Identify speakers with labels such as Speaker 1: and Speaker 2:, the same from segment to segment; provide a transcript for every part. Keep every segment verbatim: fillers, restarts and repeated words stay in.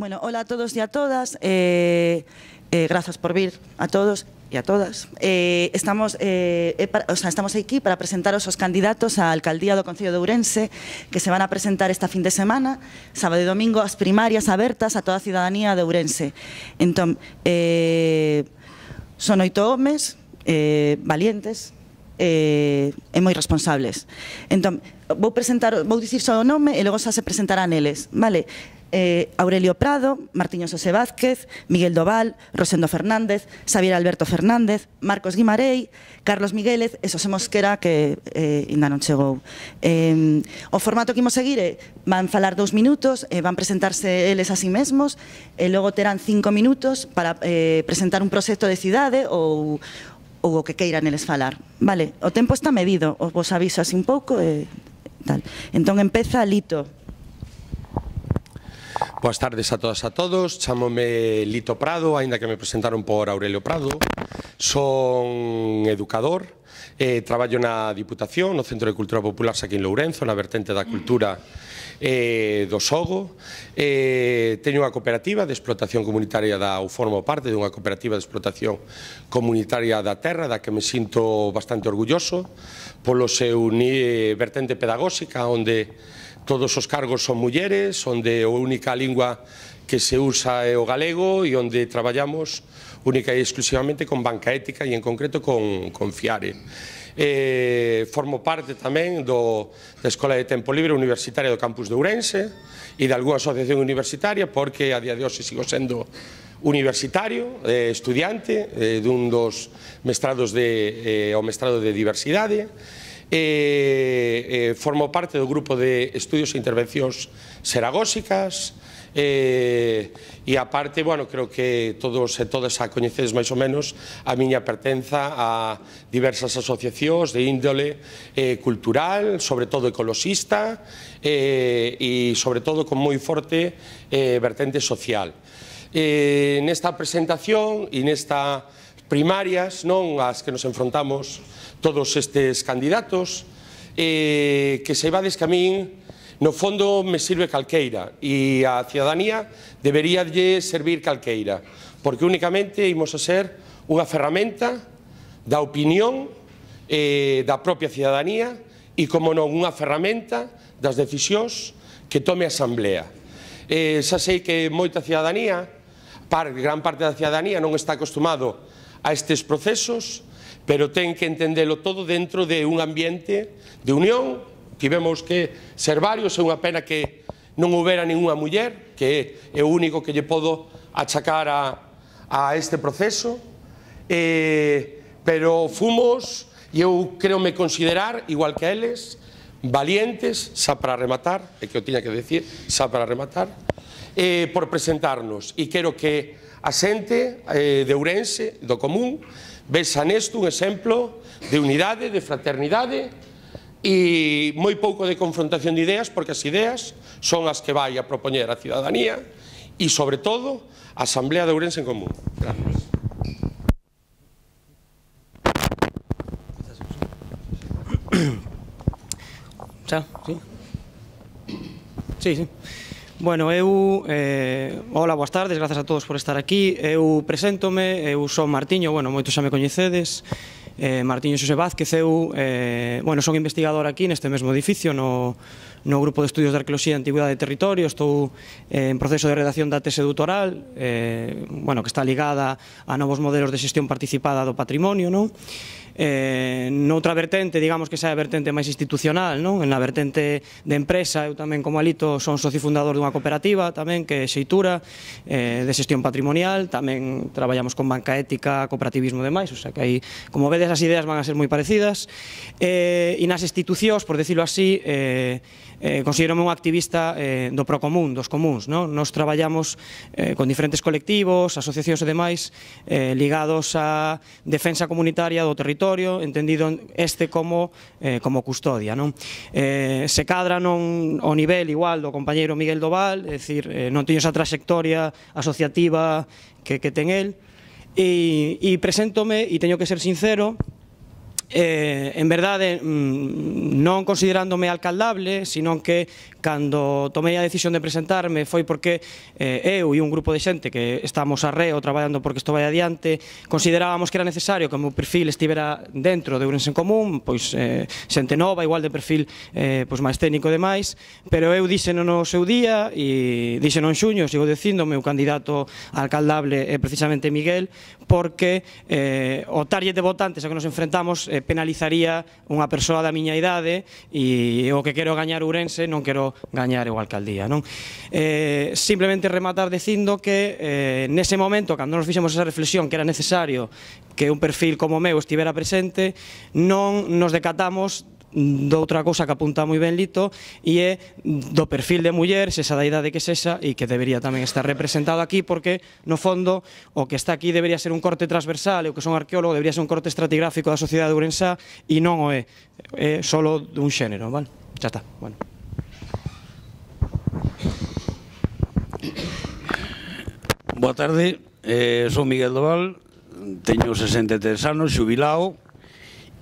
Speaker 1: Bueno, hola a todos y a todas. Eh, eh, gracias por vir a todos e a todas. Eh, estamos, eh, eh, para, o sea, estamos aquí para presentaros os candidatos á alcaldía do Concello de Ourense que se van a presentar esta fin de semana, sábado e domingo, as primarias abertas a toda a cidadanía de Ourense. Entón, eh, son oito homes eh, valientes eh, e moi responsables. Entón, vou presentar, vou dicir só o nome e logo xa se presentarán eles, vale? Eh, Aurelio Prado, Martiño Xosé Vázquez, Miguel Doval, Rosendo Fernández, Xavier Alberto Fernández, Marcos Guimarei, Carlos Miguélez e Xosé Mosquera, que eh, ainda non chegou. Eh, o formato que imos seguir é, van falar dous minutos, eh, van presentarse eles a sí mesmos, e logo terán cinco minutos para eh, presentar un proxecto de cidade ou, ou o que queiran eles falar. Vale, o tempo está medido, os vos aviso así un pouco e tal. Entón empeza Lito.
Speaker 2: Boas tardes a todas e a todos, chamome Lito Prado, aínda que me presentaron por Aurelio Prado. Son educador, eh, traballo na Diputación, no Centro de Cultura Popular aquí en Lourenzo, na vertente da cultura eh, do Sogo. Eh, teño unha cooperativa de explotación comunitaria da, ou formo parte dunha cooperativa de explotación comunitaria da terra, da que me sinto bastante orgulloso, polo seu ni, vertente pedagóxica, onde todos os cargos son mulleres, onde a única lingua que se usa é o galego e onde traballamos única e exclusivamente con banca ética e en concreto con, con Fiare. Eh, formo parte tamén do, da Escola de Tempo Libre Universitaria do Campus de Ourense e de algunha asociación universitaria, porque a día de hoxe sigo sendo universitario, eh, estudiante eh, dun dos mestrados de, eh, o mestrado de diversidade. Eh, eh, formo parte do grupo de estudios e intervencións xeragóxicas eh, e aparte, bueno, creo que todos e todas a coñecedes máis ou menos a miña pertenza a diversas asociacións de índole eh, cultural, sobre todo ecoloxista eh, e sobre todo con moi forte eh, vertente social. Eh, nesta presentación e nesta primarias, non as que nos enfrontamos todos estes candidatos, eh, que saibades que a min, no fondo, me sirve calqueira e a cidadanía debería lle servir calqueira, porque únicamente imos a ser unha ferramenta da opinión eh, da propia cidadanía e, como non, unha ferramenta das decisións que tome a Asamblea. Eh, xa sei que moita cidadanía, par, gran parte da cidadanía, non está acostumado a estes procesos, pero ten que entendelo todo dentro de un ambiente de unión. Tivemos que ser varios, é unha pena que non houbera ninguna muller, que é o único que lle podo achacar a, a este proceso, eh, pero fomos, e eu creo me considerar, igual que eles, valientes, xa para rematar, é que eu tiña que decir, xa para rematar, eh, por presentarnos, e quero que a xente eh, de Ourense, do común, vexa nesto un exemplo de unidade, de fraternidade e moi pouco de confrontación de ideas, porque as ideas son as que vai a propoñer a cidadanía e, sobre todo, a Asamblea de Ourense en común. Gracias.
Speaker 3: Xa, sí? Sí, sí. Bueno, eu, eh, hola, boas tardes, grazas a todos por estar aquí. Eu preséntome, eu son Martiño, bueno, moitos xa me coñecedes, eh, Martiño Xosé Vázquez, eu, eh, bueno, son investigador aquí neste mesmo edificio, no, no Grupo de Estudios de Arqueoloxía e Antigüidade de Territorio. Estou eh, en proceso de redacción da tese doutoral, eh, bueno, que está ligada a novos modelos de xestión participada do patrimonio, non? Eh, noutra vertente, digamos que xa é a vertente máis institucional, non? En a vertente de empresa, eu tamén como Alito son socio fundador dunha cooperativa tamén que é Xeitura, eh, de xestión patrimonial, tamén traballamos con banca ética, cooperativismo e demais, o sea que aí, como vedes, as ideas van a ser moi parecidas, eh, e nas institucións, por decirlo así, eh, eh, considero-me un activista eh, do procomún, dos comuns, non? Nos traballamos eh, con diferentes colectivos, asociacións e demais, eh, ligados á defensa comunitaria do territorio, entendido este como, eh, como custodia, non? Eh, se cadra non o nivel igual do compañeiro Miguel Doval, é dicir, eh, non teño esa trayectoria asociativa que, que ten el, e, e preséntome, e teño que ser sincero, Eh, en verdade, non considerándome alcaldable, sino que cando tomei a decisión de presentarme foi porque eh, eu e un grupo de xente que estamos arreo traballando porque isto vai adiante, considerábamos que era necesario que o meu perfil estivera dentro de Ourense en Común, pois eh, xente nova, igual de perfil eh, pois máis técnico e demais, pero eu dixeno no seu día e dixeno en xuño, sigo dicindo, o meu candidato alcaldable é precisamente Miguel, porque eh, o target de votantes a que nos enfrentamos eh, penalizaría unha persoa da miña idade e o que quero gañar Ourense non quero gañar eu a alcaldía, non? Eh, simplemente rematar dicindo que eh, nese momento, cando nos fixemos esa reflexión que era necesario que un perfil como o meu estivera presente, non nos decatamos doutra cousa que apunta moi ben Lito, e é do perfil de muller, se esa da idade que sexa, e que debería tamén estar representado aquí, porque no fondo o que está aquí debería ser un corte transversal, e o que son arqueólogo debería ser un corte estratigráfico da sociedade ourensá, e non o é, é solo dun xénero, vale? Xa está, bueno.
Speaker 4: Boa tarde, eh, son Miguel Doval, teño sesenta e tres anos, xubilao,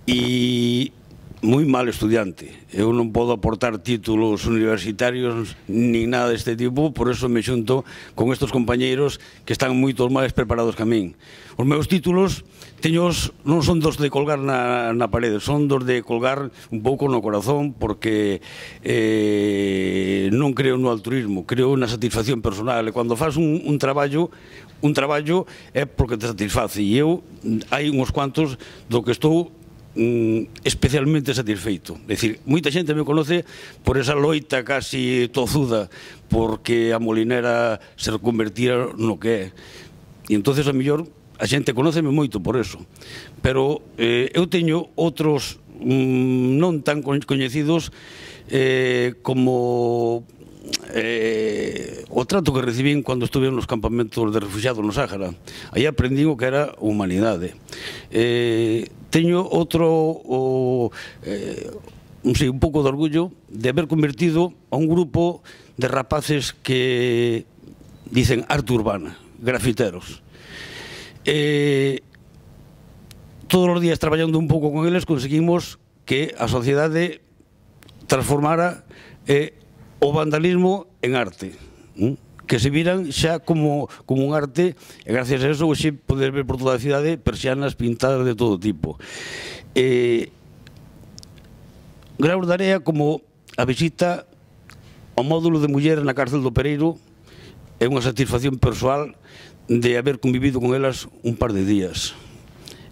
Speaker 4: e moi mal estudiante. Eu non podo aportar títulos universitarios nin nada deste tipo, por eso me xunto con estes compañeiros que están moito máis preparados que a min. Os meus títulos teños, non son dos de colgar na, na parede, son dos de colgar un pouco no corazón, porque eh, non creo no altruismo, creo na satisfacción personal. E cando faz un, un traballo, un traballo é porque te satisface, e eu hai uns cuantos do que estou especialmente satisfeito. É dicir, moita xente me conoce por esa loita casi tozuda porque a molinera se reconvertira no que é, e entonces a mellor a xente conóceme moito por eso, pero eh, eu teño outros mm, non tan coñecidos eh, como eh, o trato que recibín cando estuve nos campamentos de refugiados no Sáhara. Aí aprendín o que era humanidade. Eh, teño outro o, eh, non sei, un pouco de orgullo de haber convertido a un grupo de rapaces que dicen arte urbana, grafiteros. Eh, todos os días traballando un pouco con eles conseguimos que a sociedade transformara eh, o vandalismo en arte, ¿eh? Que se viran xa como, como un arte, e gracias a eso hoxe poder ver por toda a cidade persianas pintadas de todo tipo. Eh, Graus de area como a visita ao módulo de mulleres na cárcel do Pereiro é unha satisfacción persoal de haber convivido con elas un par de días.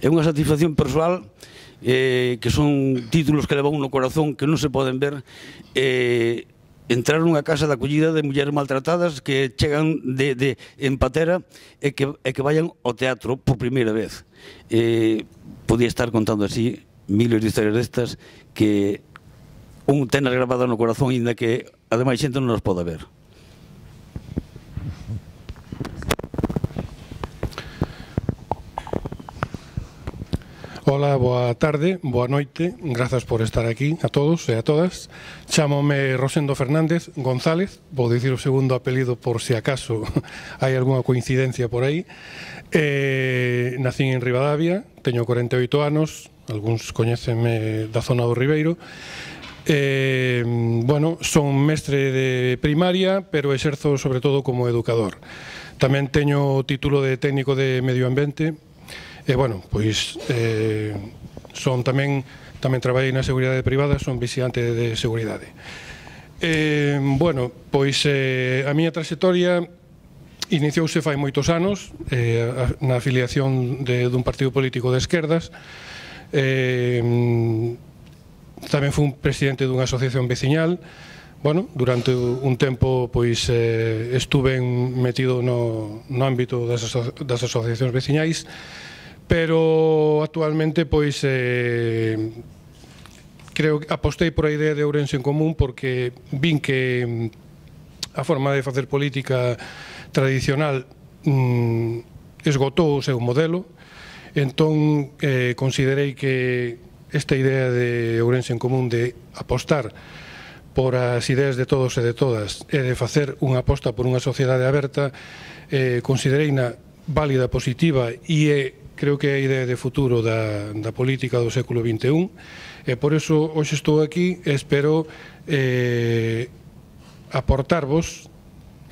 Speaker 4: É unha satisfacción persoal eh, que son títulos que levan no corazón que non se poden ver. Eh, entrar nunha casa de acollida de mulleres maltratadas que chegan de, de, en patera e que, e que vayan ao teatro por primeira vez. Eh, podía estar contando así miles de historias destas que un tenas grabada no corazón, ainda que ademais xente non nos pode ver.
Speaker 5: Ola, boa tarde, boa noite, grazas por estar aquí a todos e a todas. Chámome Rosendo Fernández González, vou dicir o segundo apelido por se acaso hai algunha coincidencia por aí. Eh, nacín en Ribadavia, teño corenta e oito anos, algúns coñécenme da zona do Ribeiro. Eh, bueno, son mestre de primaria, pero exerzo sobre todo como educador. Tamén teño o título de técnico de medio ambiente. E, bueno, pois, eh, son tamén, tamén traballei na seguridade privada, son vixiante de seguridade. Eh, bueno, pois, eh, a miña trayectoria iniciouse fai moitos anos, eh, na afiliación de, dun partido político de esquerdas. Eh, tamén fui un presidente dunha asociación veciñal. Bueno, durante un tempo, pois, eh, estuve metido no, no ámbito das, aso das asociacións veciñais, pero actualmente pois eh, creo que apostei por a idea de Ourense en Común porque vin que a forma de facer política tradicional mm, esgotou o seu modelo, entón eh, considerei que esta idea de Ourense en Común de apostar por as ideas de todos e de todas e de facer unha aposta por unha sociedade aberta, eh, considerei na válida, positiva e é creo que é a idea de futuro da, da política do século vinte e un, e por iso hoxe estou aquí e espero eh, aportarvos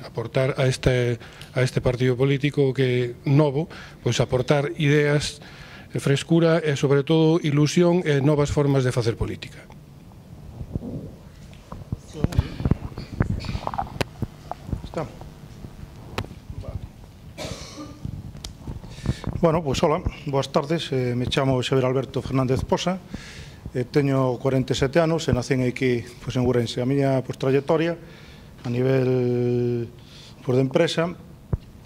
Speaker 5: aportar a este, a este partido político que novo, pois aportar ideas, frescura e sobre todo ilusión e novas formas de facer política.
Speaker 6: Está. Bueno, pois hola, boas tardes, eh, me chamo Xavier Alberto Fernández Posa, eh, teño cuarenta e sete anos e nacen aquí pois, en Ourense. A miña pois, trayectoria a nivel pois, de empresa,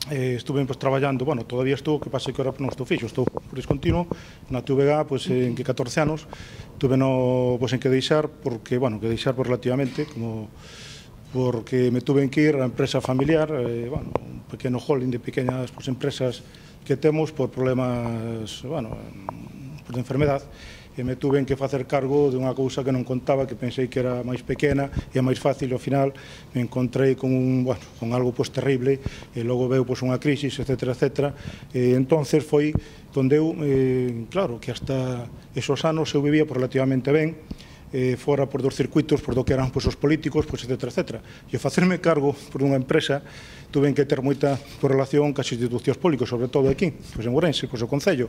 Speaker 6: eh, estuve pois, traballando, bueno, todavía estou, que pase que ahora non estou fixo, estou por discontinuo, na T V G, pois, en que catorce anos, tuve no, pois, en que deixar, porque, bueno, que deixar por relativamente, como porque me tuve que ir á empresa familiar, eh, bueno, un pequeno holding de pequeñas pois, empresas que temos por problemas, bueno, por de enfermedad, e me tuve que facer cargo de unha cousa que non contaba, que pensei que era máis pequena e máis fácil, e ao final me encontrei con, un, bueno, con algo pois, terrible, e logo veu pois, unha crisis, etcétera, etcétera, e entonces foi onde eu, eh, claro, que hasta esos anos eu vivía relativamente ben, eh, fora por dos circuitos, por do que eran pois, os políticos, pois, etcétera, etcétera. E ao facerme cargo por unha empresa, tuve que ter moita relación cas institucións públicas, sobre todo aquí, pois en Ourense, pois o Concello.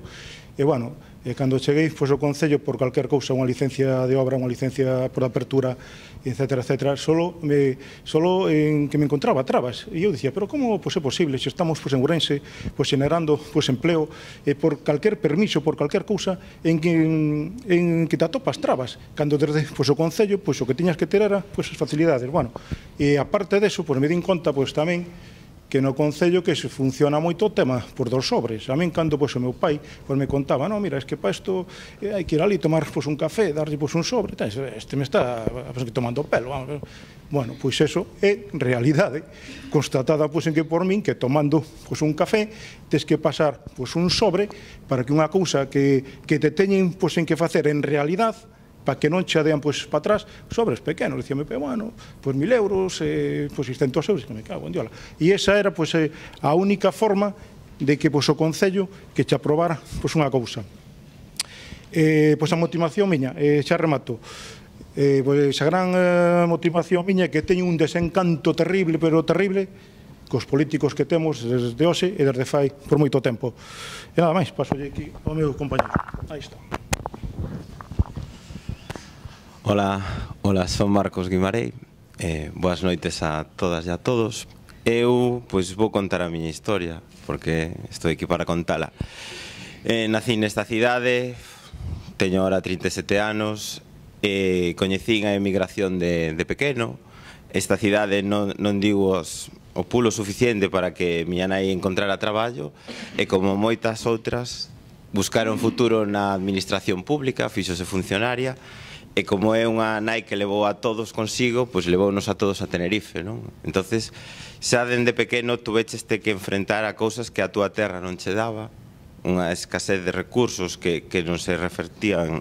Speaker 6: E, bueno, e cando cheguei pois, ao Concello, por calquer cousa, unha licencia de obra, unha licencia por apertura, etcétera, etcétera, solo, me, solo en que me encontraba trabas. E eu dicía, pero como pois, é posible, se estamos pois, en Ourense, pois, generando pois, empleo, e por calquer permiso, por calquer cousa, en que, en, en que te atopas trabas, cando desde pois, o Concello, pois, o que tiñas que ter era pois, as facilidades. Bueno, e aparte deso, pois, me din conta pois, tamén que no Concello que se funciona moito o tema por dos sobres. A min, cando pois, o meu pai pois, me contaba, no, mira, es que para isto eh, hai que ir ali tomar pois, un café, darlle pois, un sobre, tá, este me está pois, tomando o pelo. Vamos. Bueno, pois eso é realidade constatada pois, en que por min que tomando pois, un café tes que pasar pois, un sobre para que unha cousa que, que te teñen pois, en que facer en realidad, para que non che dean pois, para atrás sobres pequenos, dicíame, bueno, pois mil euros, eh, pois seiscentos euros, que me cago en diola. E esa era pois, eh, a única forma de que pois, o Concello que che aprobara pois, unha cousa. Eh, pois a motivación miña, eh, xa remato, eh, pois a gran eh, motivación miña é que teño un desencanto terrible, pero terrible, cos políticos que temos desde hoxe e desde fai por moito tempo. E nada máis, paso aquí ao meu compañero. Aí está.
Speaker 7: Hola, hola, son Marcos Guimarei, eh, boas noites a todas e a todos. Eu, pois, vou contar a miña historia, porque estou aquí para contala. Eh, nací nesta cidade, teño ahora trinta e sete anos, e coñecín a emigración de, de pequeno. Esta cidade non, non digo os, o pulo suficiente para que miña nai encontrara traballo, e como moitas outras, buscaron futuro na administración pública, fíxose funcionaria, e como é unha nai que levou a todos consigo, pois levounos a todos a Tenerife, non? Entonces, xa dende pequeno tuvecheste que enfrentar a cousas que a túa terra non che daba, unha escasez de recursos que, que non se revertían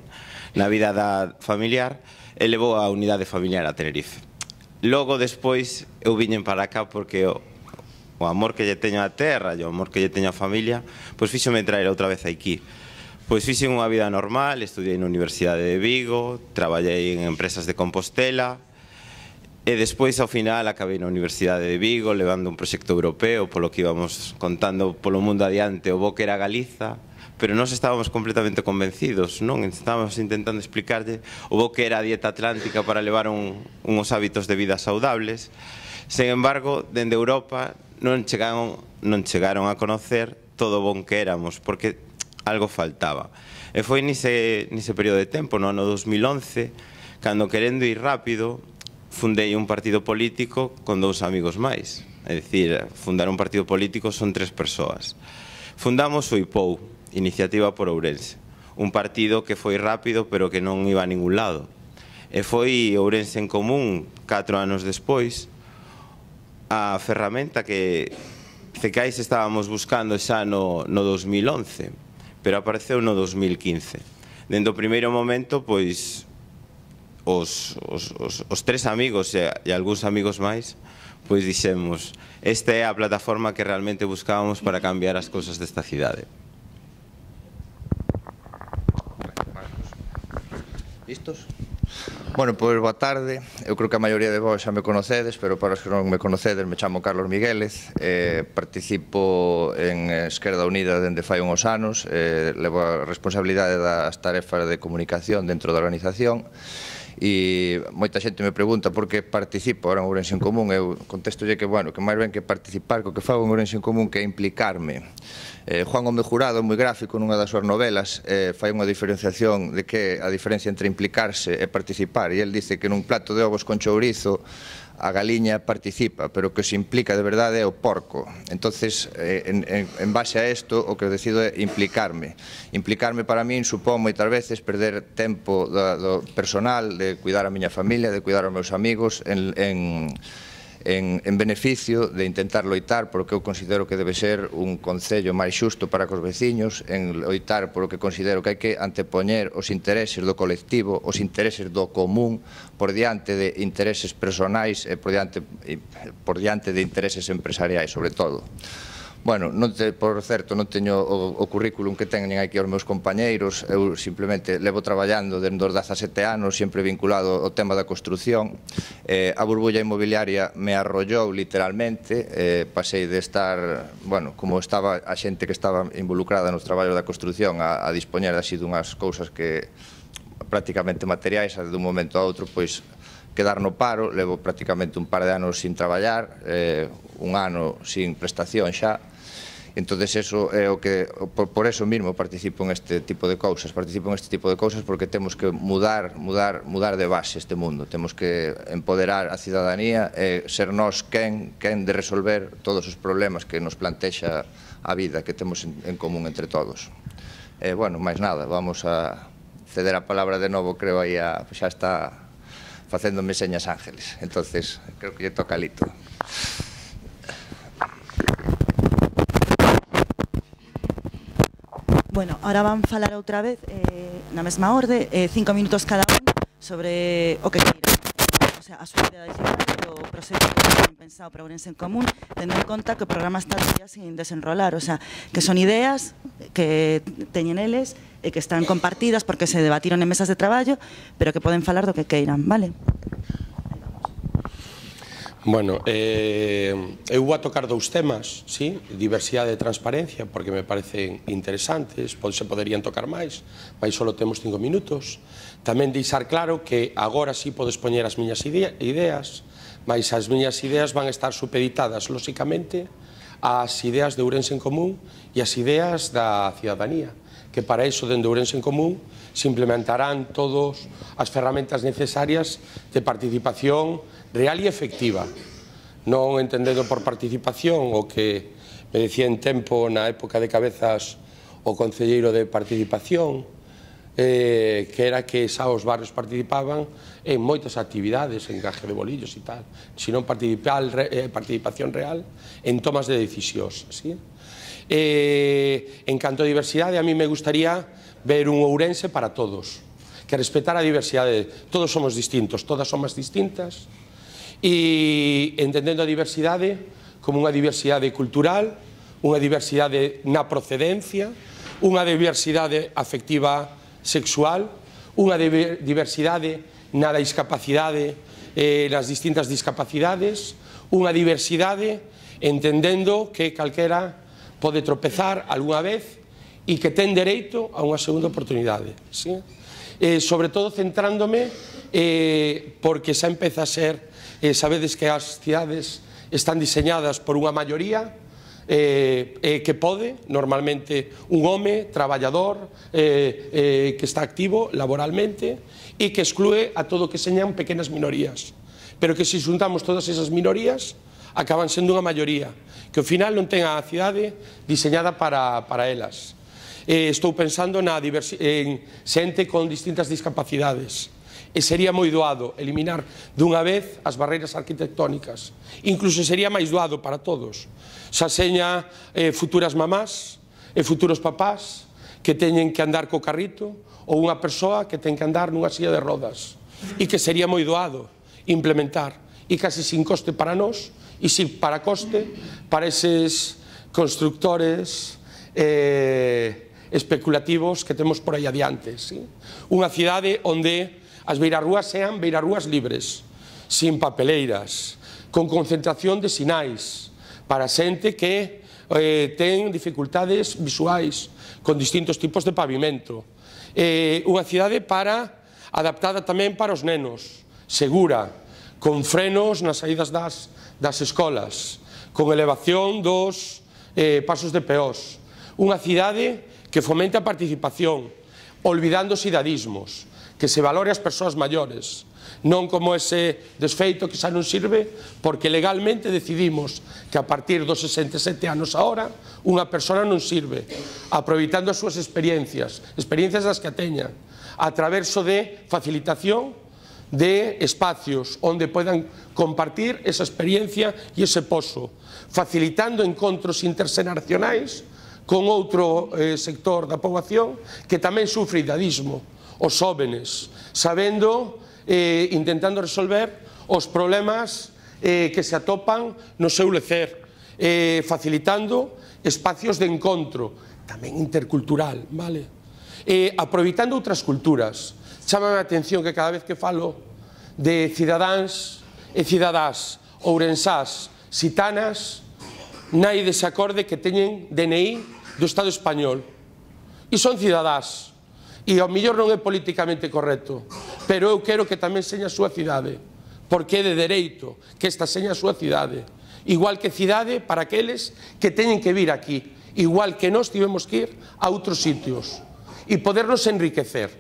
Speaker 7: na vida da familiar, e levou a unidade familiar a Tenerife. Logo, despois, eu viñen para cá porque o, o amor que lle teño á terra e o amor que lle teño á familia, pois fíxome traer outra vez aquí. Pois fixen unha vida normal, estudiei na Universidade de Vigo, traballei en empresas de Compostela, e despois, ao final, acabei na Universidade de Vigo, levando un proxecto europeo, polo que íbamos contando polo mundo adiante, o bo que era Galiza, pero nós estábamos completamente convencidos, non? Estábamos intentando explicarlle o bo que era a dieta atlántica para levar un, uns hábitos de vida saudables. Sen embargo, dende Europa non chegaron, non chegaron a conocer todo o bon que éramos, porque algo faltaba. E foi nese, nese período de tempo, no ano dos mil once, cando, querendo ir rápido, fundei un partido político con dous amigos máis. É dicir, fundar un partido político son tres persoas. Fundamos o I P O U, Iniciativa por Ourense, un partido que foi rápido pero que non iba a ningún lado. E foi Ourense en Común, catro anos despois, a ferramenta que Cecais estábamos buscando xa no, no dos mil once, pero apareceu no dos mil quince. Dende o primeiro momento, pois, os, os, os, os tres amigos e, e algúns amigos máis, pois dixemos, esta é a plataforma que realmente buscábamos para cambiar as cousas desta cidade.
Speaker 8: Listos? Bueno, pois boa tarde. Eu creo que a maioría de vos xa me conocedes, pero para os que non me conocedes, me chamo Carlos Miguélez, eh, participo en Esquerda Unida dende fai uns anos, eh, levo a responsabilidade das tarefas de comunicación dentro da organización, e moita xente me pregunta por que participo ahora en Ourense en Común. Eu contestolle que, bueno, que máis ben que participar, co que fago en Ourense en Común, que é implicarme. Eh, Juan Gómez Jurado, moi gráfico nunha das súas novelas, eh, fai unha diferenciación de que a diferencia entre implicarse e participar, e el dice que nun plato de ovos con chourizo a galiña participa, pero que se implica de verdade é o porco. Entonces, eh, en, en, en base a isto, o que eu decido é implicarme. Implicarme para min supón moitas veces perder tempo do, do personal, de cuidar a miña familia, de cuidar os meus amigos, en, en En, en beneficio de intentar loitar por o que eu considero que debe ser un concello máis xusto para cos veciños, en loitar por o que considero que hai que antepoñer os intereses do colectivo, os intereses do común, por diante de intereses personais e por diante, por diante de intereses empresariais, sobre todo. Bueno, non te, por certo, non teño o, o currículum que teñen aquí os meus compañeiros. Eu simplemente levo traballando dende os dezasete anos, sempre vinculado ao tema da construción. Eh, a burbulla inmobiliaria me arrollou literalmente, eh, pasei de estar, bueno, como estaba a xente que estaba involucrada nos traballos da construción a, a dispoñer así dunhas cousas que prácticamente materiais, de un momento a outro, pois quedar no paro. Levo prácticamente un par de anos sin traballar, eh, un ano sin prestación xa. Entonces eso é o que, por, por eso mismo participo en este tipo de cousas, participo en este tipo de cousas porque temos que mudar, mudar, mudar de base este mundo, temos que empoderar a cidadanía e ser nós quen, quen de resolver todos os problemas que nos plantexa a vida que temos en, en común entre todos. E, bueno, máis nada, vamos a ceder a palabra de novo, creo aí a, xa está facéndome señas Ángeles, entonces creo que lle toca a Lito.
Speaker 1: Bueno, ahora van falar outra vez eh, na mesma orde, eh, cinco minutos cada un sobre o que queiran, eh, o sea, a súa idea digital, o proxecto que ten pensado para Ourense en Común, tendo en conta que o programa está todavía sin desenrolar, o sea, que son ideas que teñen eles e que están compartidas porque se debatiron en mesas de traballo, pero que poden falar do que queiran, vale?
Speaker 2: Bueno, eh, eu vou a tocar dous temas, sí? Diversidade e transparencia, porque me parecen interesantes, se poderían tocar máis, mas só temos cinco minutos. Tamén deixar claro que agora sí podo expoñer as miñas ideas, mas as miñas ideas van estar supeditadas, lóxicamente, ás ideas de Ourense en Común e as ideas da cidadanía, que para iso, dende Ourense en Común, se implementarán todas as ferramentas necesarias de participación real e efectiva, non entendendo por participación o que me decía en tempo na época de Cabezas o concelleiro de participación, eh, que era que xa os barrios participaban en moitas actividades, en encaje de bolillos e tal, sino eh, participación real en tomas de decisións. ¿Sí? Eh, en canto a diversidade, a mí me gustaría ver un Ourense para todos, que respetar a diversidade. Todos somos distintos, todas somos distintas, e entendendo a diversidade como unha diversidade cultural, unha diversidade na procedencia, unha diversidade afectiva sexual, unha diversidade na discapacidade, eh, nas distintas discapacidades, unha diversidade entendendo que calquera pode tropezar algunha vez e que ten dereito a unha segunda oportunidade. ¿Sí? Eh, sobre todo centrándome eh, porque xa empeza a ser, eh, sabedes que as cidades están diseñadas por unha maioría eh, eh, que pode, normalmente un home traballador eh, eh, que está activo laboralmente e que exclúe a todo que señan pequenas minorías, pero que se xuntamos todas esas minorías acaban sendo unha maioría que ao final non ten a cidade diseñada para, para elas. Eh, estou pensando na en xente con distintas discapacidades e sería moi doado eliminar dunha vez as barreiras arquitectónicas, incluso sería máis doado para todos, xa seña eh, futuras mamás e futuros papás que teñen que andar co carrito ou unha persoa que ten que andar nunha silla de rodas, e que sería moi doado implementar e casi sin coste para nós e sin para coste para eses constructores eh, especulativos que temos por aí adiante. ¿Sí? Unha cidade onde as beirarrúas sean beirarrúas libres, sin papeleiras, con concentración de sinais para xente que eh, ten dificultades visuais, con distintos tipos de pavimento. Eh, unha cidade para adaptada tamén para os nenos, segura, con frenos nas saídas das, das escolas, con elevación dos eh, pasos de peós. Unha cidade que fomente a participación, olvidando os cidadismos, que se valore as persoas maiores, non como ese desfeito que xa non sirve porque legalmente decidimos que a partir dos sesenta e sete anos ahora unha persona non sirve, aproveitando as súas experiencias, experiencias das que a teñan, a través de facilitación de espacios onde podan compartir esa experiencia e ese pozo, facilitando encontros interxeneracionais con outro eh, sector da poboación que tamén sufre idadismo, os jóvenes, sabendo, eh, intentando resolver os problemas eh, que se atopan no seu lecer, eh, facilitando espacios de encontro, tamén intercultural, vale? Eh, aproveitando outras culturas. Chámame a atención que cada vez que falo de cidadáns e cidadás ourensás, xitanas, naide se acorde que teñen D N I do Estado español e son cidadás. E ao mellor non é políticamente correcto, pero eu quero que tamén seña a súa cidade, porque é de dereito que esta seña a súa cidade, igual que cidade para aqueles que teñen que vir aquí, igual que nós tivemos que ir a outros sitios e podernos enriquecer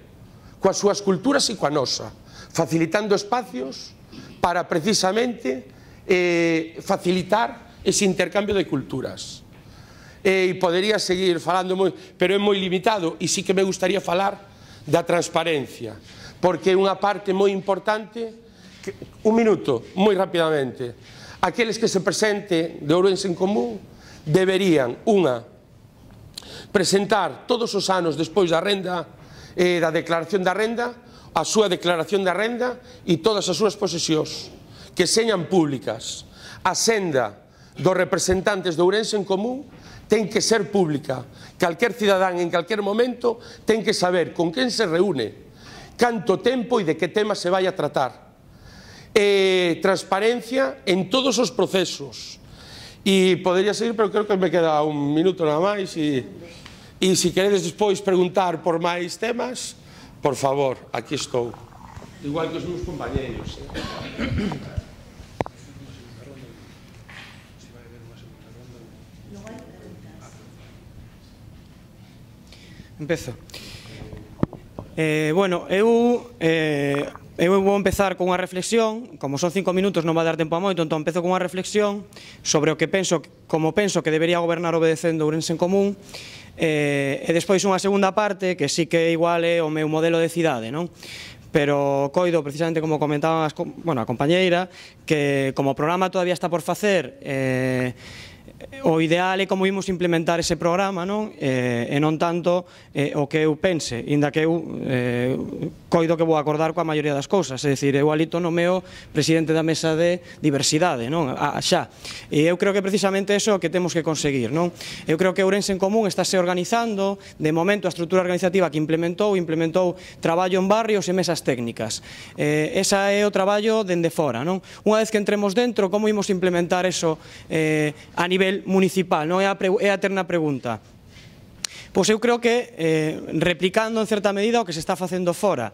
Speaker 2: coas súas culturas e coa nosa, facilitando espacios para precisamente eh, facilitar ese intercambio de culturas. E podería seguir falando moi, pero é moi limitado, e sí que me gustaría falar da transparencia, porque é unha parte moi importante que, un minuto, moi rapidamente, aqueles que se presente de Ourense en Común deberían, unha, presentar todos os anos despois da renda, eh, da declaración da renda, a súa declaración da renda e todas as súas posesións, que señan públicas. A senda dos representantes de Ourense en Común ten que ser pública. Calquer cidadán en calquer momento ten que saber con quen se reúne, canto tempo e de que tema se vai a tratar. Eh, transparencia en todos os procesos. E podería seguir, pero creo que me queda un minuto nada máis. E, e se queredes despois preguntar por máis temas, por favor, aquí estou. Igual que os meus compañeros. Eh?
Speaker 3: Empezo. Eh, bueno, eu, eh, eu vou empezar con unha reflexión, como son cinco minutos non vai dar tempo a moito, entón empezo con unha reflexión sobre o que penso, como penso que debería gobernar obedecendo Ourense en Común, eh, e despois unha segunda parte que sí que igual é o meu modelo de cidade, non? Pero coido, precisamente como comentaba as, bueno, a compañeira, que como o programa todavía está por facer, eh, o ideal é como imos implementar ese programa, non? Eh, e non tanto eh, o que eu pense, inda que eu eh, coido que vou acordar coa maioría das cousas, é dicir, eu alito no meu presidente da mesa de diversidade, non? A, xa. E eu creo que precisamente eso é o que temos que conseguir, non? Eu creo que Ourense en Común está se organizando, de momento a estrutura organizativa que implementou, implementou traballo en barrios e mesas técnicas. Eh, esa é o traballo dende fora, non? Unha vez que entremos dentro, como imos implementar eso eh, a nivel municipal, non é a, é a eterna pregunta. Pois eu creo que eh, replicando en certa medida o que se está facendo fora.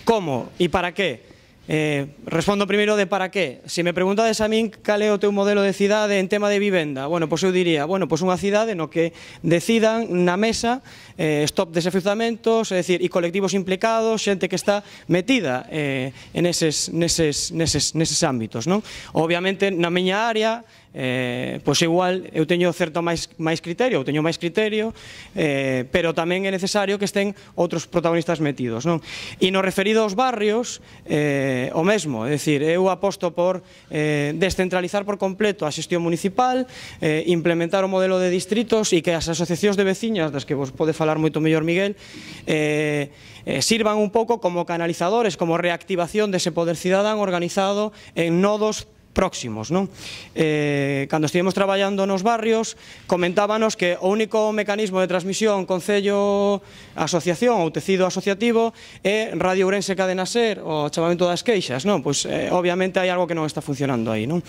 Speaker 3: Como e para que? Eh, respondo primeiro de para que. Se me preguntades a min cal é o teu modelo de cidade en tema de vivenda, bueno, pois eu diría, bueno, pois unha cidade no que decidan na mesa eh, stop desafiuzamentos, é dicir, e colectivos implicados, xente que está metida eh, en eses, neses, neses, neses ámbitos, non? Obviamente, na miña área, Eh, pois igual eu teño certo máis, máis criterio, eu teño máis criterio, eh, pero tamén é necesario que estén outros protagonistas metidos, non? E no referido aos barrios, eh, o mesmo, é dicir, eu aposto por eh, descentralizar por completo a xestión municipal, eh, implementar o modelo de distritos e que as asociacións de veciñas, das que vos pode falar moito mellor Miguel, eh, eh, sirvan un pouco como canalizadores, como reactivación dese poder cidadán organizado en nodos próximos, non? Eh, cando estivemos traballando nos barrios, comentábanos que o único mecanismo de transmisión Concello Asociación ou tecido asociativo é Radio Ourense Cadena Ser, o chamamento das queixas, non? Pois, eh, obviamente, hai algo que non está funcionando aí, non?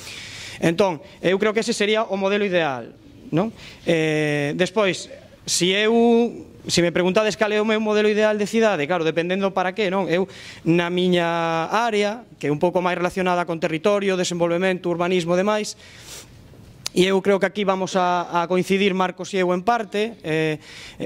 Speaker 3: Entón, eu creo que ese sería o modelo ideal, non? Eh, despois, se eu... Se me preguntades cal é o meu modelo ideal de cidade, claro, dependendo para que, non? Eu, na miña área, que é un pouco máis relacionada con territorio, desenvolvemento, urbanismo e demais, e eu creo que aquí vamos a, a coincidir Marcos e eu en parte, eh,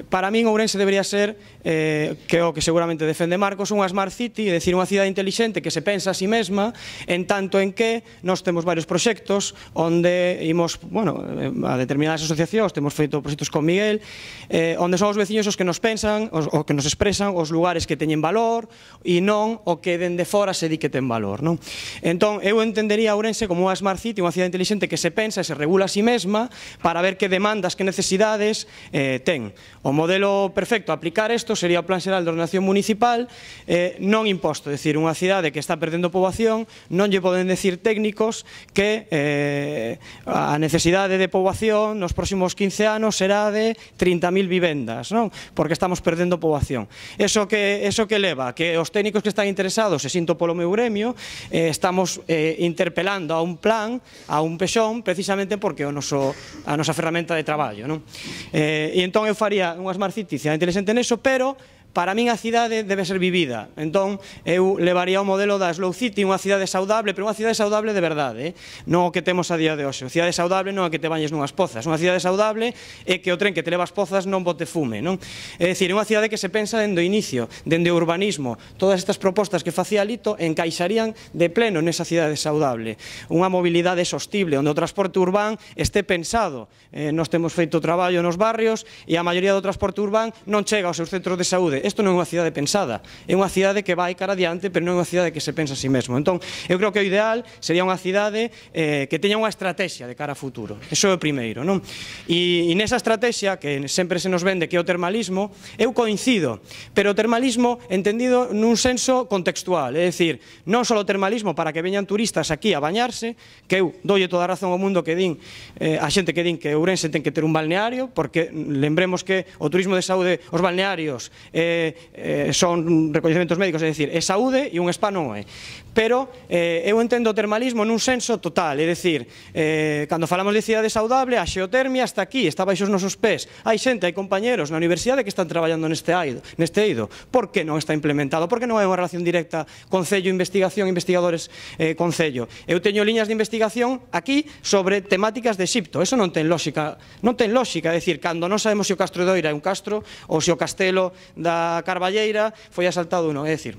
Speaker 3: para min Ourense debería ser, eh, que é o que seguramente defende Marcos, unha smart city, é dicir, unha cidade inteligente que se pensa a si mesma, en tanto en que nós temos varios proxectos onde imos, bueno, a determinadas asociacións, temos feito proxectos con Miguel, eh, onde son os veciños os que nos pensan, os, o que nos expresan os lugares que teñen valor e non o que dende fora se di que ten valor, non? Entón, eu entendería Ourense como unha smart city, unha cidade inteligente que se pensa e se regula a si mesma para ver que demandas, que necesidades eh, ten. O modelo perfecto a aplicar isto sería o Plan Xeral de Ordenación Municipal, eh, non imposto, é dicir, unha cidade que está perdendo poboación, non lle poden decir técnicos que eh, a necesidade de poboación nos próximos quince anos será de trinta mil vivendas, non? Porque estamos perdendo poboación. Eso que, eso que leva que os técnicos que están interesados, e sinto polo meu gremio, eh, estamos eh, interpelando a un plan, a un pexón, precisamente por porque é o noso, a nosa ferramenta de traballo, non? Eh, e entón eu faría unha smart city cidade inteligente neso, pero para min a cidade debe ser vivida. Entón, eu levaría o modelo da Slow City, unha cidade saudable, pero unha cidade saudable de verdade, eh? Non o que temos a día de hoxe. A cidade saudable non é que te bañes nunhas pozas. Unha cidade saudable é que o tren que te leva as pozas non bote fume, non? É dicir, unha cidade que se pensa dende o inicio, dende o urbanismo. Todas estas propostas que facía Lito encaixarían de pleno nesa cidade saudable. Unha mobilidade sostible, onde o transporte urbán este pensado. Eh, nós temos feito traballo nos barrios e a maioría do transporte urbán non chega aos seus centros de saúde. Isto non é unha cidade pensada, é unha cidade que vai cara adiante, pero non é unha cidade que se pensa a si mesmo. Entón, eu creo que o ideal sería unha cidade eh, que teña unha estrategia de cara a futuro. Eso é o primeiro, non? E, e nesa estrategia, que sempre se nos vende que é o termalismo, eu coincido, pero o termalismo entendido nun senso contextual, é dicir, non só o termalismo para que veñan turistas aquí a bañarse, que eu doulle toda a razón ao mundo que din, eh, a xente que din que Ourense ten que ter un balneario, porque lembremos que o turismo de saúde, os balnearios, eh, eh, son recoñecementos médicos, é dicir, é saúde e un spa non é. Pero eh, eu entendo o termalismo nun senso total, é dicir, eh, cando falamos de cidade saudable, a xeotermia está aquí, está baixo os nosos pés. Hai xente, hai compañeros na universidade que están traballando neste eido. Neste eido. Por que non está implementado? Por que non hai unha relación directa Concello-Investigación, investigadores eh, Concello? Eu teño liñas de investigación aquí sobre temáticas de Exipto. Eso non ten lógica, non ten lógica, é dicir, cando non sabemos se o Castro de Oira é un castro ou se o castelo da Carballeira foi asaltado ou non, é dicir,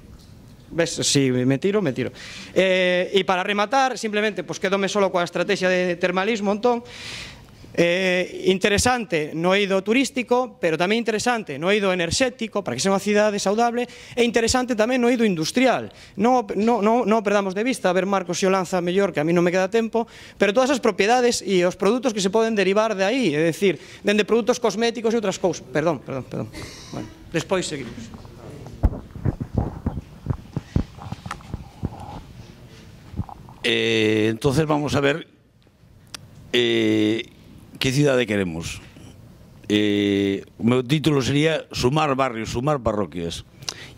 Speaker 3: ves, si me tiro, me tiro. Eh, e para rematar, simplemente, pues quedome solo coa estrategia de termalismo, entón, eh, interesante no eido turístico, pero tamén interesante no eido enerxético, para que sea unha cidade saudable, e interesante tamén no eido industrial. Non no, no, no perdamos de vista, a ver Marcos se o lanza mellor, que a mí non me queda tempo, pero todas as propiedades e os produtos que se poden derivar de aí, é dicir, dende produtos cosméticos e outras cousas. Perdón, perdón, perdón. Bueno, despois seguimos.
Speaker 4: Eh, entonces vamos a ver eh, que cidade queremos. Eh, o meu título sería Sumar barrios, sumar parroquias.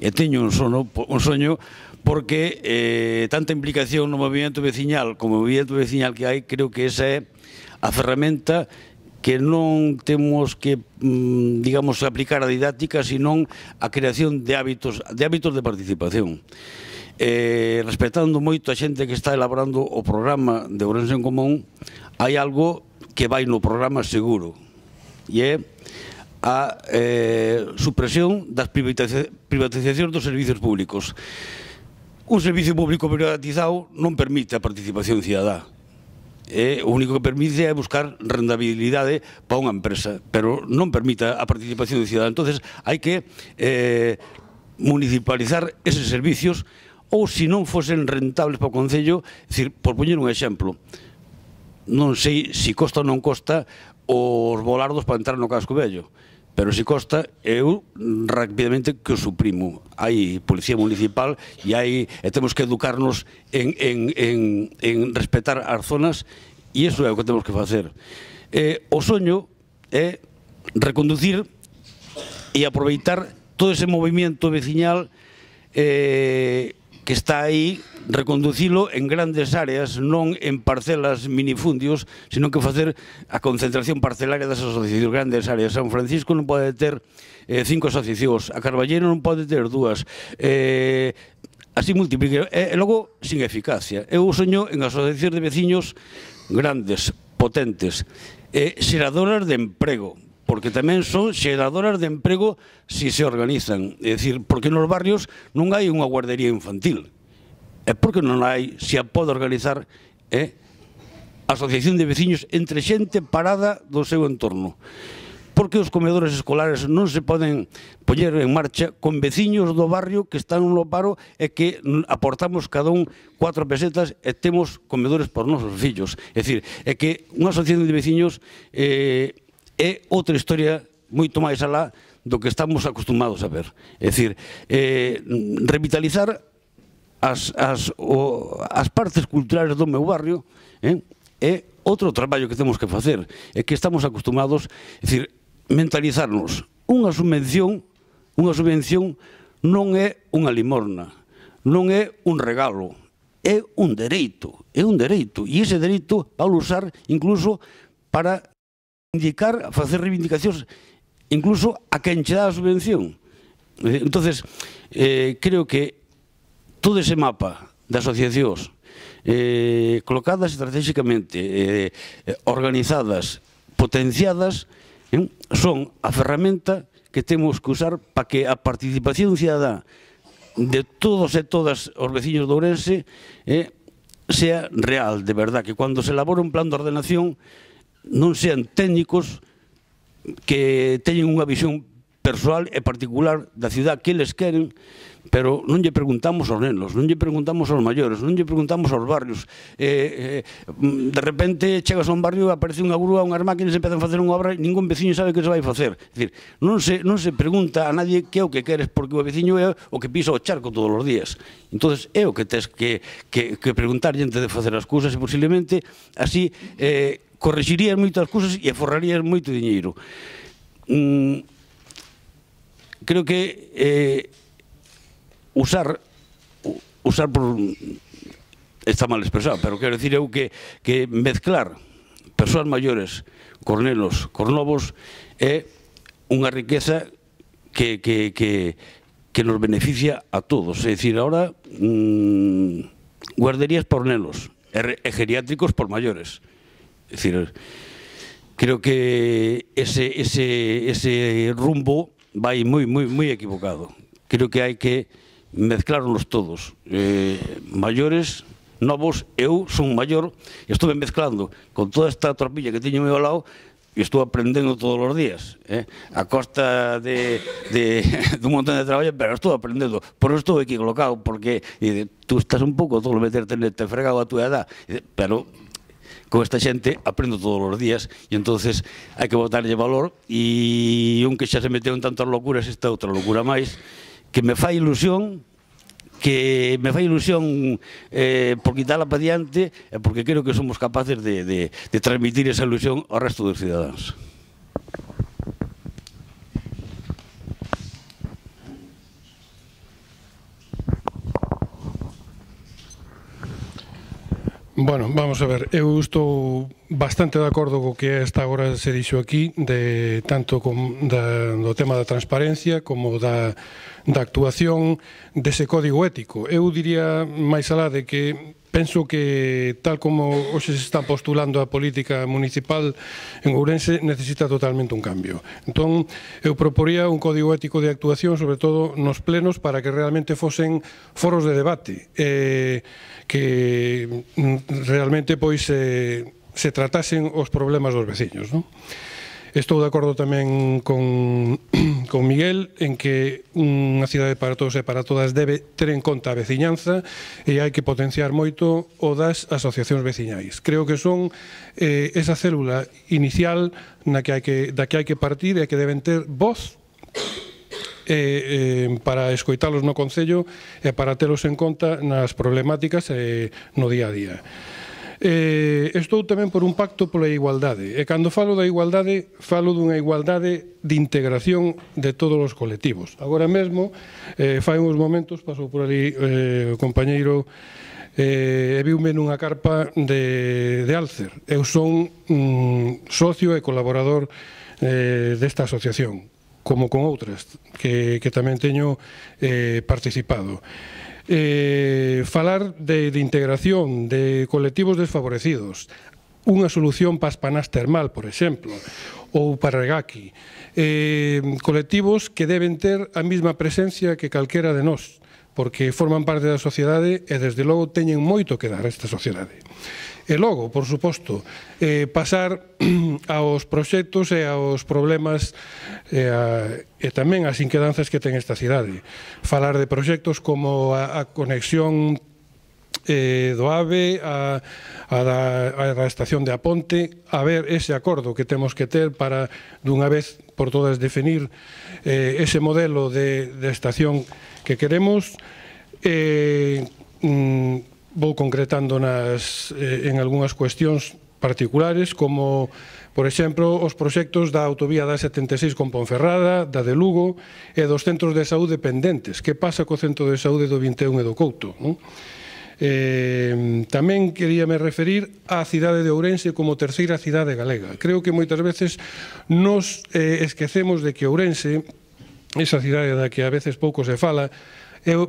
Speaker 4: E teño un sono, un soño porque eh, tanta implicación no movimento veciñal como o movimento veciñal que hai, creo que esa é a ferramenta que non temos que, digamos, aplicar a didáctica, senón a creación de hábitos, de hábitos de participación. Eh, respetando moito a xente que está elaborando o programa de Ourense en Común, hai algo que vai no programa seguro, e é a eh, supresión das privatizacións dos servicios públicos. Un servicio público privatizado non permite a participación cidadá. Eh, o único que permite é buscar rentabilidade para unha empresa, pero non permite a participación cidadá. Entonces hai que eh, municipalizar eses servicios, ou se non fosen rentables para o Concello, é dicir, por poñer un exemplo, non sei se costa ou non costa os volardos para entrar no casco vello, pero se costa, eu rapidamente que o suprimo. Hai policía municipal e hai e temos que educarnos en, en, en, en respetar as zonas, e iso é o que temos que facer. Eh, o soño é reconducir e aproveitar todo ese movimento veciñal eh, que está aí, reconducilo en grandes áreas, non en parcelas minifundios, sino que facer a concentración parcelaria das asociacións, grandes áreas. San Francisco non pode ter eh, cinco asociacións, a Carballero non pode ter dúas, eh, así multiplique, e, e logo sin eficacia. Eu soño en asociacións de veciños grandes, potentes, eh, xeradoras de emprego, porque tamén son xeradoras de emprego si se organizan. É dicir, porque nos barrios non hai unha guardería infantil. É porque non hai, se a pode organizar, é asociación de veciños entre xente parada do seu entorno. Porque os comedores escolares non se poden poñer en marcha con veciños do barrio que están no paro e que aportamos cada un cuatro pesetas e temos comedores por nosos fillos. É dicir, é que unha asociación de veciños eh, é outra historia moito máis alá do que estamos acostumados a ver. É dicir, eh, revitalizar as, as, o, as partes culturales do meu barrio eh, é outro traballo que temos que facer. É que estamos acostumados, é dicir, mentalizarnos. Unha subvención, unha subvención non é unha limorna, non é un regalo, é un dereito, é un dereito, e ese dereito vai usar incluso para indicar, facer reivindicacións incluso a quen che dá a subvención. Entonces, eh, creo que todo ese mapa de asociacións eh, colocadas estratégicamente, eh, organizadas, potenciadas, eh, son a ferramenta que temos que usar para que a participación cidadá de todos e todas os veciños de Ourense eh, sea real, de verdad, que cando se elabora un plan de ordenación non sean técnicos que teñen unha visión persoal e particular da ciudad que eles queren, pero non lle preguntamos aos nenos, non lle preguntamos aos maiores, non lle preguntamos aos barrios. Eh, eh, de repente chegas a un barrio, aparece unha grúa, unhas máquinas, empezan a facer unha obra e ningún veciño sabe que se vai facer. É dicir, non se, non se pregunta a nadie que é o que queres, porque o veciño é o que pisa o charco todos os días. Entonces é o que tes que, que, que preguntar antes de facer as cousas, e posiblemente así eh, correxirías moitas cousas e aforrarías moito diñeiro. Mm, creo que eh, usar usar por está mal expresado, pero quero dicir eu que, que mezclar persoas maiores, cornelos, cornovos é unha riqueza que, que, que, que nos beneficia a todos. É dicir, ahora mmm, guarderías por nenos e, e geriátricos por maiores. É dicir, creo que ese, ese, ese rumbo vai moi, moi, moi equivocado. Creo que hai que mezclarnos todos, eh, maiores, novos. Eu son maior e estou mezclando con toda esta tropilla que teño ao lado e estou aprendendo todos os días, eh? A costa de, de, de un montón de traballo, pero estou aprendendo. Por eso estou aquí colocado, porque e, tú estás un pouco todo meterte neste fregado a túa edad, pero con esta xente aprendo todos os días e entonces hai que botarlle valor, e un que xa se meteu en tantas locuras, esta outra locura máis que me fai ilusión, que me fai ilusión eh, por quitarla para diante, e porque creo que somos capaces de, de, de transmitir esa ilusión ao resto dos cidadáns.
Speaker 5: Bueno, vamos a ver, eu estou bastante de acordo co que esta agora se dixo aquí, de tanto com, da, do tema da transparencia como da, da actuación dese código ético. Eu diría máis alá de que penso que tal como hoxe se está postulando a política municipal en Ourense necesita totalmente un cambio. Entón, eu proporía un código ético de actuación, sobre todo nos plenos, para que realmente fosen foros de debate, eh, que realmente pois eh, se tratasen os problemas dos veciños, non? Estou de acordo tamén con, con Miguel en que unha cidade para todos e para todas debe ter en conta a veciñanza e hai que potenciar moito o das asociacións veciñais. Creo que son eh, esa célula inicial na que hai que, da que hai que partir e que deben ter voz eh, eh, para escoitalos no Concello e para telos en conta nas problemáticas eh, no día a día. Eh, estou tamén por un pacto pola igualdade e cando falo da igualdade falo dunha igualdade de integración de todos os colectivos. Agora mesmo, eh, fai uns momentos pasou por ali eh, o compañeiro e eh, viume nunha carpa de, de Alcer. Eu son mm, socio e colaborador eh, desta asociación, como con outras que, que tamén teño eh, participado. Eh, falar de, de integración de colectivos desfavorecidos, unha solución para Aspanás Termal, por exemplo, ou para Regaki, eh, colectivos que deben ter a mesma presencia que calquera de nós, porque forman parte da sociedade e desde logo teñen moito que dar a esta sociedade. E logo, por suposto, eh, pasar aos proxectos e aos problemas e, a, e tamén as inquedanzas que ten esta cidade. Falar de proxectos como a, a conexión eh, do AVE, a, a, da, a da estación de Aponte, a ver ese acordo que temos que ter para, dunha vez por todas, definir eh, ese modelo de, de estación que queremos. Eh, mm, vou concretando nas, eh, en algunhas cuestións particulares, como, por exemplo, os proxectos da autovía da setenta e seis con Ponferrada, da de Lugo e dos centros de saúde pendentes. Que pasa co centro de saúde do vinte e un e do Couto? Non? Eh, tamén queríame referir á cidade de Ourense como terceira cidade galega. Creo que moitas veces nos eh, esquecemos de que Ourense, esa cidade da que a veces pouco se fala,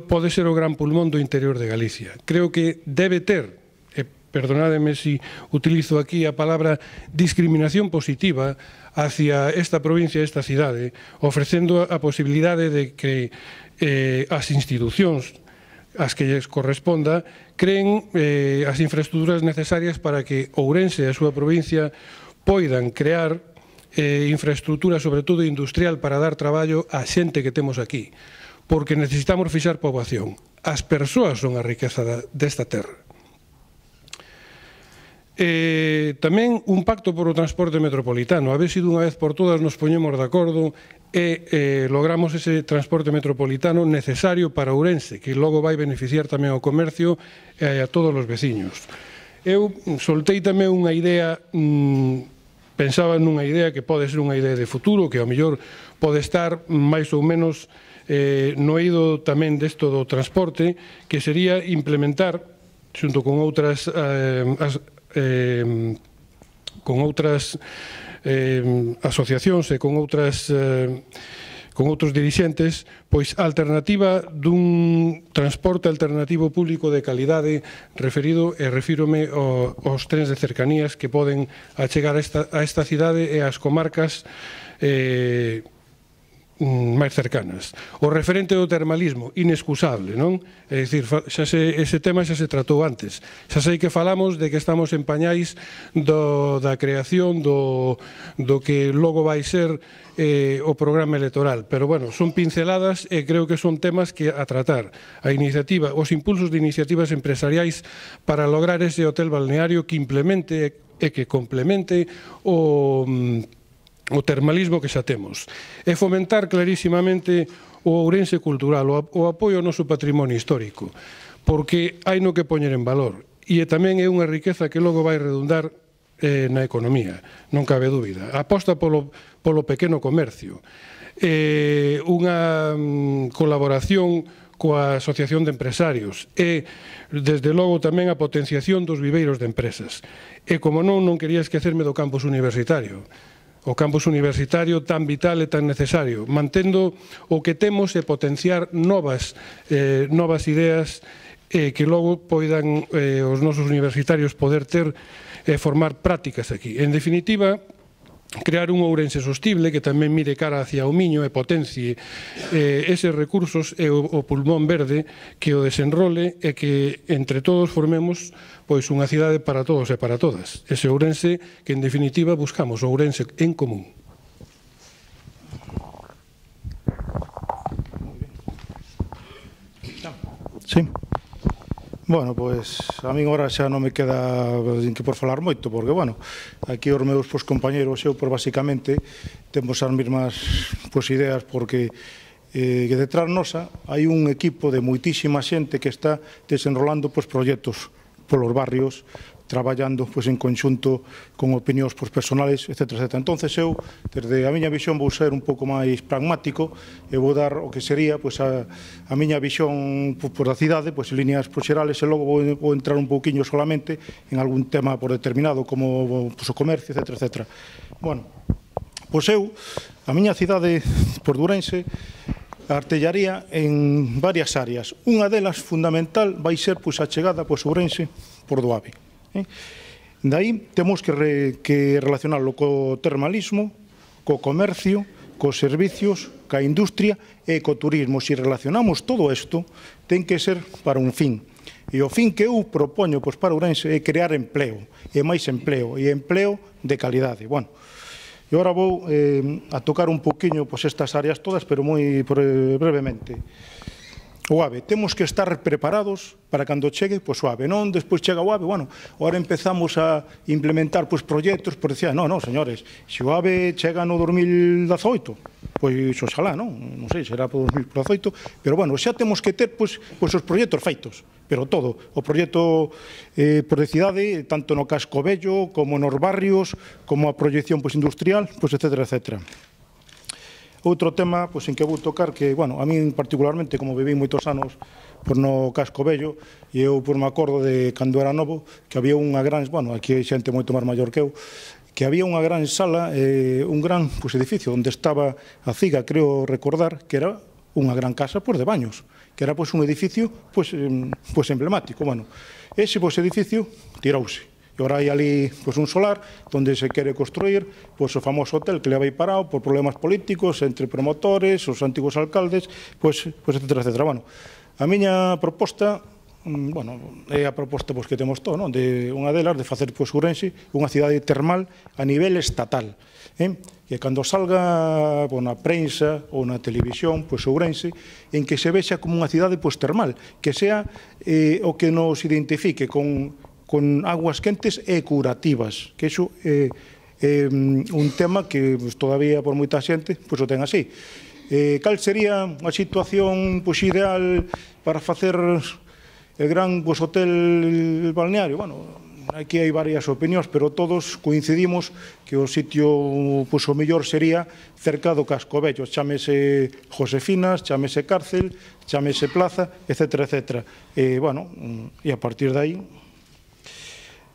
Speaker 5: pode ser o gran pulmón do interior de Galicia. Creo que debe ter, e perdonádeme se utilizo aquí a palabra discriminación positiva hacia esta provincia, esta cidade, ofrecendo a posibilidade de que eh, as institucións as que lles corresponda creen eh, as infraestructuras necesarias para que Ourense e a súa provincia poidan crear eh, infraestructura, sobre todo industrial, para dar traballo á xente que temos aquí. Porque necesitamos fixar poboación. As persoas son a riqueza desta terra. Eh, tamén un pacto por o transporte metropolitano. A ver se dunha vez por todas nos poñemos de acordo e eh, logramos ese transporte metropolitano necesario para Ourense, que logo vai beneficiar tamén ao comercio e a todos os veciños. Eu soltei tamén unha idea, mmm, pensaba nunha idea que pode ser unha idea de futuro, que ao mellor pode estar máis ou menos Eh, no eido tamén desto do transporte, que sería implementar xunto con outras eh, as, eh, con outras eh, asociacións e con outras eh, con outros dirixentes, pois a alternativa dun transporte alternativo público de calidade, referido e refírome ao, aos trens de cercanías que poden achegar a esta, a esta cidade e ás comarcas eh, máis cercanas. O referente do termalismo, inexcusable, non? É dicir, xa se, ese tema xa se tratou antes. Xa sei que falamos de que estamos en pañais do, da creación do, do que logo vai ser eh, o programa electoral, pero bueno, son pinceladas e creo que son temas que a tratar. A iniciativa, os impulsos de iniciativas empresariais para lograr ese hotel balneario que implemente e que complemente o o termalismo que xa temos, e fomentar clarísimamente o Ourense cultural, o apoio ao noso patrimonio histórico, porque hai no que poñer en valor, e tamén é unha riqueza que logo vai redundar eh, na economía, non cabe dúbida. A aposta polo, polo pequeno comercio, eh, unha mm, colaboración coa Asociación de Empresarios e, desde logo, tamén a potenciación dos viveiros de empresas. E, como non, non quería esquecerme do campus universitario, o campus universitario tan vital e tan necesario, mantendo o que temos e potenciar novas, eh, novas ideas eh, que logo poidan eh, os nosos universitarios poder ter e eh, formar prácticas aquí. En definitiva, crear un Ourense sostible que tamén mire cara hacia o Miño e potencie eh, eses recursos e o, o pulmón verde que o desenrole e que entre todos formemos pois unha cidade para todos e para todas. Ese Ourense que en definitiva buscamos, o Ourense en común.
Speaker 6: Sí. Bueno, pois a min agora xa non me queda que por falar moito, porque, bueno, aquí os meus pois, compañeros, eu, por basicamente, temos as mesmas pois, ideas, porque eh, que detrás nosa hai un equipo de moitísima xente que está desenrolando pois, proxectos polos barrios, traballando pois, en conxunto con opinións pois, personales, etcétera, etcétera. Entonces eu, desde a miña visión, vou ser un pouco máis pragmático e vou dar o que sería pois, a, a miña visión pois, por a cidade, pois, en líneas pois, xerales, e logo vou, vou entrar un pouquiño solamente en algún tema por determinado, como pois, o comercio, etcétera, etcétera. Bueno, pois eu, a miña cidade por Ourense, artellaría en varias áreas. Unha delas, fundamental, vai ser pois, a chegada pois, Ourense por do AVE. Eh? Daí temos que, re, que relacionarlo co termalismo, co comercio, cos servicios, ca industria e co turismo. Se relacionamos todo isto, ten que ser para un fin. E o fin que eu propoño pois, para Ourense é crear empleo, e máis empleo, e empleo de calidade. Bueno, e agora vou eh, a tocar un poquinho pois, estas áreas todas, pero moi brevemente. O AVE, temos que estar preparados para cando chegue pois, o AVE, non despois chega o AVE, bueno, agora empezamos a implementar pois, proxectos, por decir, non, non, señores, se o AVE chega no dos mil dezaoito, pois oxalá, non, non sei, será por dos mil dezaoito, pero bueno, xa temos que ter pois, pois, os proxectos feitos, pero todo, o proxecto eh, por de cidade, tanto no casco vello, como nos barrios, como a proyección pois, industrial, pois, etcétera, etcétera. Outro tema pois, en que vou tocar que, bueno, a min particularmente, como viví moitos anos por no casco vello, e eu por me acordo de cando era novo, que había unha gran, bueno, aquí hai xente moito máis maior que eu, que había unha gran sala, eh, un gran pois, edificio onde estaba a Ciga, creo recordar, que era unha gran casa pois, de baños, que era pois, un edificio pois, pois, emblemático. Bueno, ese pois, edificio tirouse. E agora hai ali pois, un solar onde se quere construir pois, o famoso hotel que le vai parado por problemas políticos entre promotores, os antigos alcaldes, pois, pois, etcétera, etcétera. Bueno, a miña proposta, bueno, é a proposta pois, que temos todo, non? De unha delas de facer pois, Ourense unha cidade termal a nivel estatal. Eh? Que cando salga pois, na prensa ou na televisión, pois, Ourense, en que se vexa como unha cidade pois, termal, que sea eh, o que nos identifique con con aguas quentes e curativas, que iso é, é un tema que pues, todavía por moita xente pues, o ten así. Eh, cal sería a situación pues, ideal para facer el gran pues, hotel balneario? Bueno, aquí hai varias opinións, pero todos coincidimos que o sitio pues, o mellor sería cerca do casco vello, chámese Josefinas, chámese Cárcel, chámese Plaza, etcétera, etcétera. E, bueno, e a partir de aí...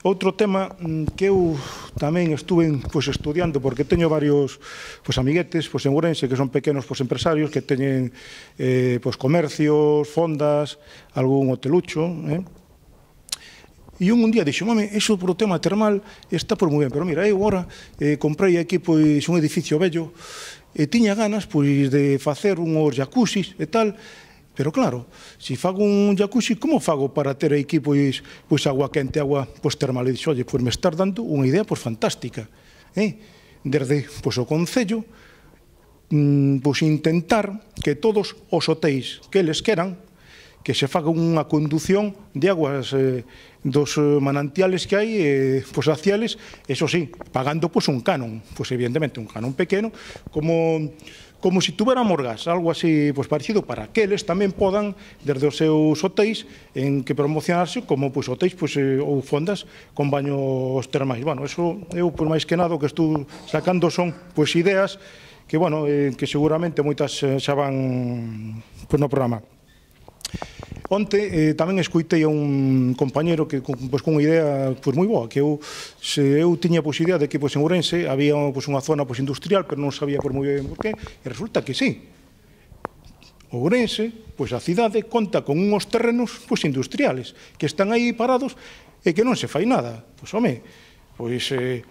Speaker 6: Outro tema que eu tamén estuve pues, estudiando, porque teño varios pues, amiguetes pues, en Ourense que son pequenos pues, empresarios que teñen eh, pues, comercios, fondas, algún hotelucho. Eh? E un, un día dixo, mame, eso por o tema termal está por moi ben, pero mira, eu agora eh, comprei aquí pues, un edificio bello e tiña ganas pues, de facer unhos jacuzzis e tal. Pero claro, se fago un jacuzzi, como fago para ter aquí pois, pois agua quente, agua pois, termal? E dixo, oye, pois me estás dando unha idea pois, fantástica. Eh? Desde pois, o Concello, mm, pois, intentar que todos os hotéis que eles queran, que se faga unha condución de aguas eh, dos manantiales que hai, eh, pois, hacia eles, eso sí, pagando pois, un canon, pois, evidentemente un canon pequeno, como... como se tuveramos gas, algo así pues, parecido, para que eles tamén podan, desde os seus hotéis, en que promocionarse como pues, hotéis pues, eh, ou fondas con baños termais. Bueno, eso eu, por máis que nada, o que estou sacando son pues, ideas que, bueno, eh, que seguramente moitas eh, xa van pues, no programa. Onte eh, tamén escoitei a un compañero que con, pues, con unha idea pues, moi boa, que eu, se eu tiña pues, idea de que pues, en Ourense había pues, unha zona pues, industrial, pero non sabía por moi ben por qué, e resulta que sí. Ourense, pues, a cidade, conta con uns terrenos pues, industriales, que están aí parados e que non se fai nada. Pois, home, pois, eh,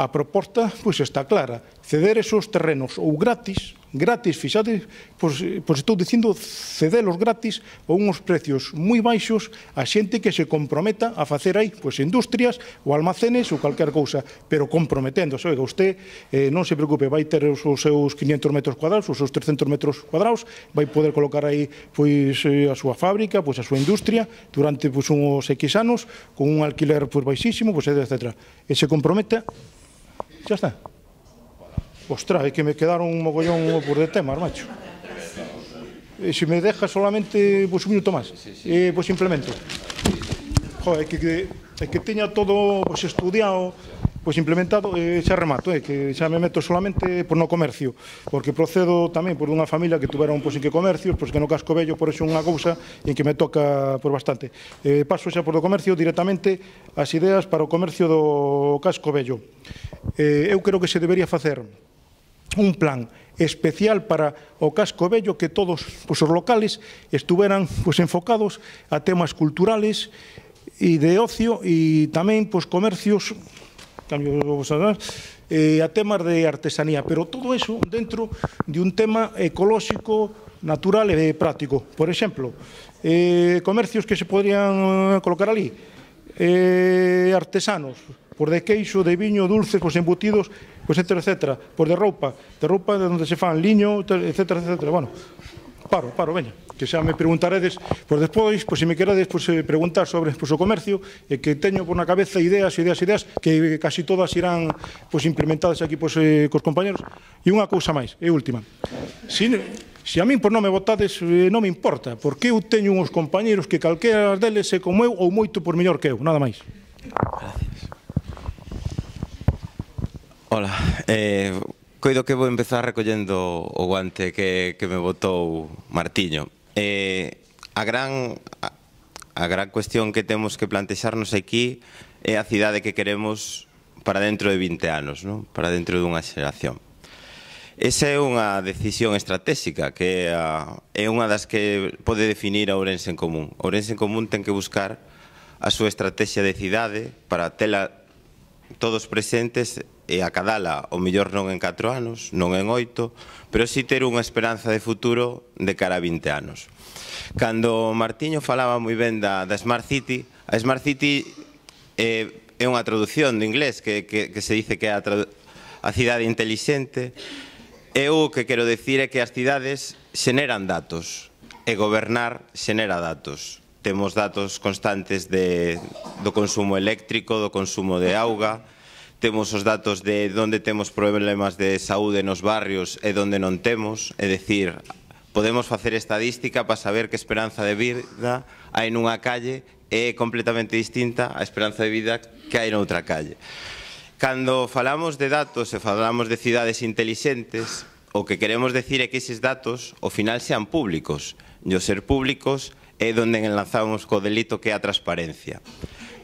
Speaker 6: a proposta pues, está clara, ceder esos terrenos ou gratis gratis, fixade, pois, pois estou dicindo cedelos gratis a unhos precios moi baixos a xente que se comprometa a facer aí pois industrias ou almacenes ou calquer cousa, pero comprometéndose. Oiga, usted eh, non se preocupe, vai ter os, os seus quinhentos metros cuadrados, os seus trescentos metros cuadrados, vai poder colocar aí pois a súa fábrica, pois a súa industria durante pois uns X anos con un alquiler pois baixísimo, pois etcétera. E se comprometa, xa está. Ostras, é que me quedaron un mogollón por de temas, macho. E se me deja solamente pois, un minuto máis, e pois implemento. Joder, é que, é que teña todo pois, estudiado, pois implementado, e xa remato, é que xa me meto solamente por no comercio, porque procedo tamén por unha familia que tuveron pois, en que comercios, pois que no Casco Vello, por eso unha cousa en que me toca por bastante. Eh, paso xa por o comercio directamente as ideas para o comercio do Casco Vello. Eh, eu creo que se debería facer un plan especial para o Casco Vello, que todos pois, os locales estuveran pois, enfocados a temas culturales e de ocio e tamén pois, comercios cambio, eh, a temas de artesanía, pero todo eso dentro de un tema ecolóxico, natural e práctico. Por exemplo, eh, comercios que se podrían colocar ali, eh, artesanos, por de queixo, de viño, dulces, pois embutidos, pois etcétera, etcétera, por de roupa, de roupa de onde se fan liño, etcétera, etcétera. Bueno, paro, paro, veña, que xa me preguntaredes, pois despois, pois se me queredes pois, preguntar sobre pois, o comercio, e que teño por na cabeza ideas, ideas, ideas, que casi todas irán pois, implementadas aquí pois, eh, cos compañeros. E unha cousa máis, e última. Si, se a min por non me votades, eh, non me importa, porque eu teño uns compañeros que calquera deles é como eu ou moito por mellor que eu, nada máis.
Speaker 7: Gracias. Hola, eh, coido que vou empezar recollendo o guante que, que me botou Martiño. Eh, a, gran, a, a gran cuestión que temos que plantexarnos aquí é a cidade que queremos para dentro de vinte anos, non? Para dentro dunha xeración. Esa é unha decisión estratégica que é unha das que pode definir a Ourense en Común. Ourense en Común ten que buscar a súa estrategia de cidade para tela todos presentes e acadala o mellor non en catro anos, non en oito, pero si ter unha esperanza de futuro de cara a vinte anos. Cando Martiño falaba moi ben da, da Smart City, a Smart City é, é unha traducción do inglés que, que, que se dice que é a, a cidade intelixente. Eu o que quero decir é que as cidades xeneran datos e gobernar xenera datos. Temos datos constantes de, do consumo eléctrico, do consumo de auga, temos os datos de onde temos problemas de saúde nos barrios e onde non temos, é dicir, podemos facer estadística para saber que esperanza de vida hai nunha calle é completamente distinta á esperanza de vida que hai noutra calle. Cando falamos de datos e falamos de cidades intelixentes, o que queremos decir é que eses datos ao final sean públicos, e ao ser públicos é onde enlazamos co delito que é a transparencia.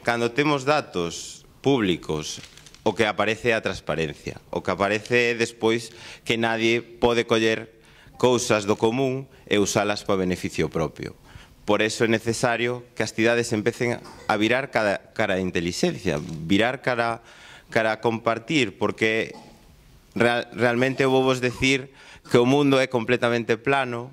Speaker 7: Cando temos datos públicos, o que aparece é a transparencia. O que aparece é despois que nadie pode coller cousas do común e usalas para beneficio propio. Por eso é necesario que as cidades empecen a virar cara a intelixencia, virar cara a compartir, porque realmente vou vos decir que o mundo é completamente plano,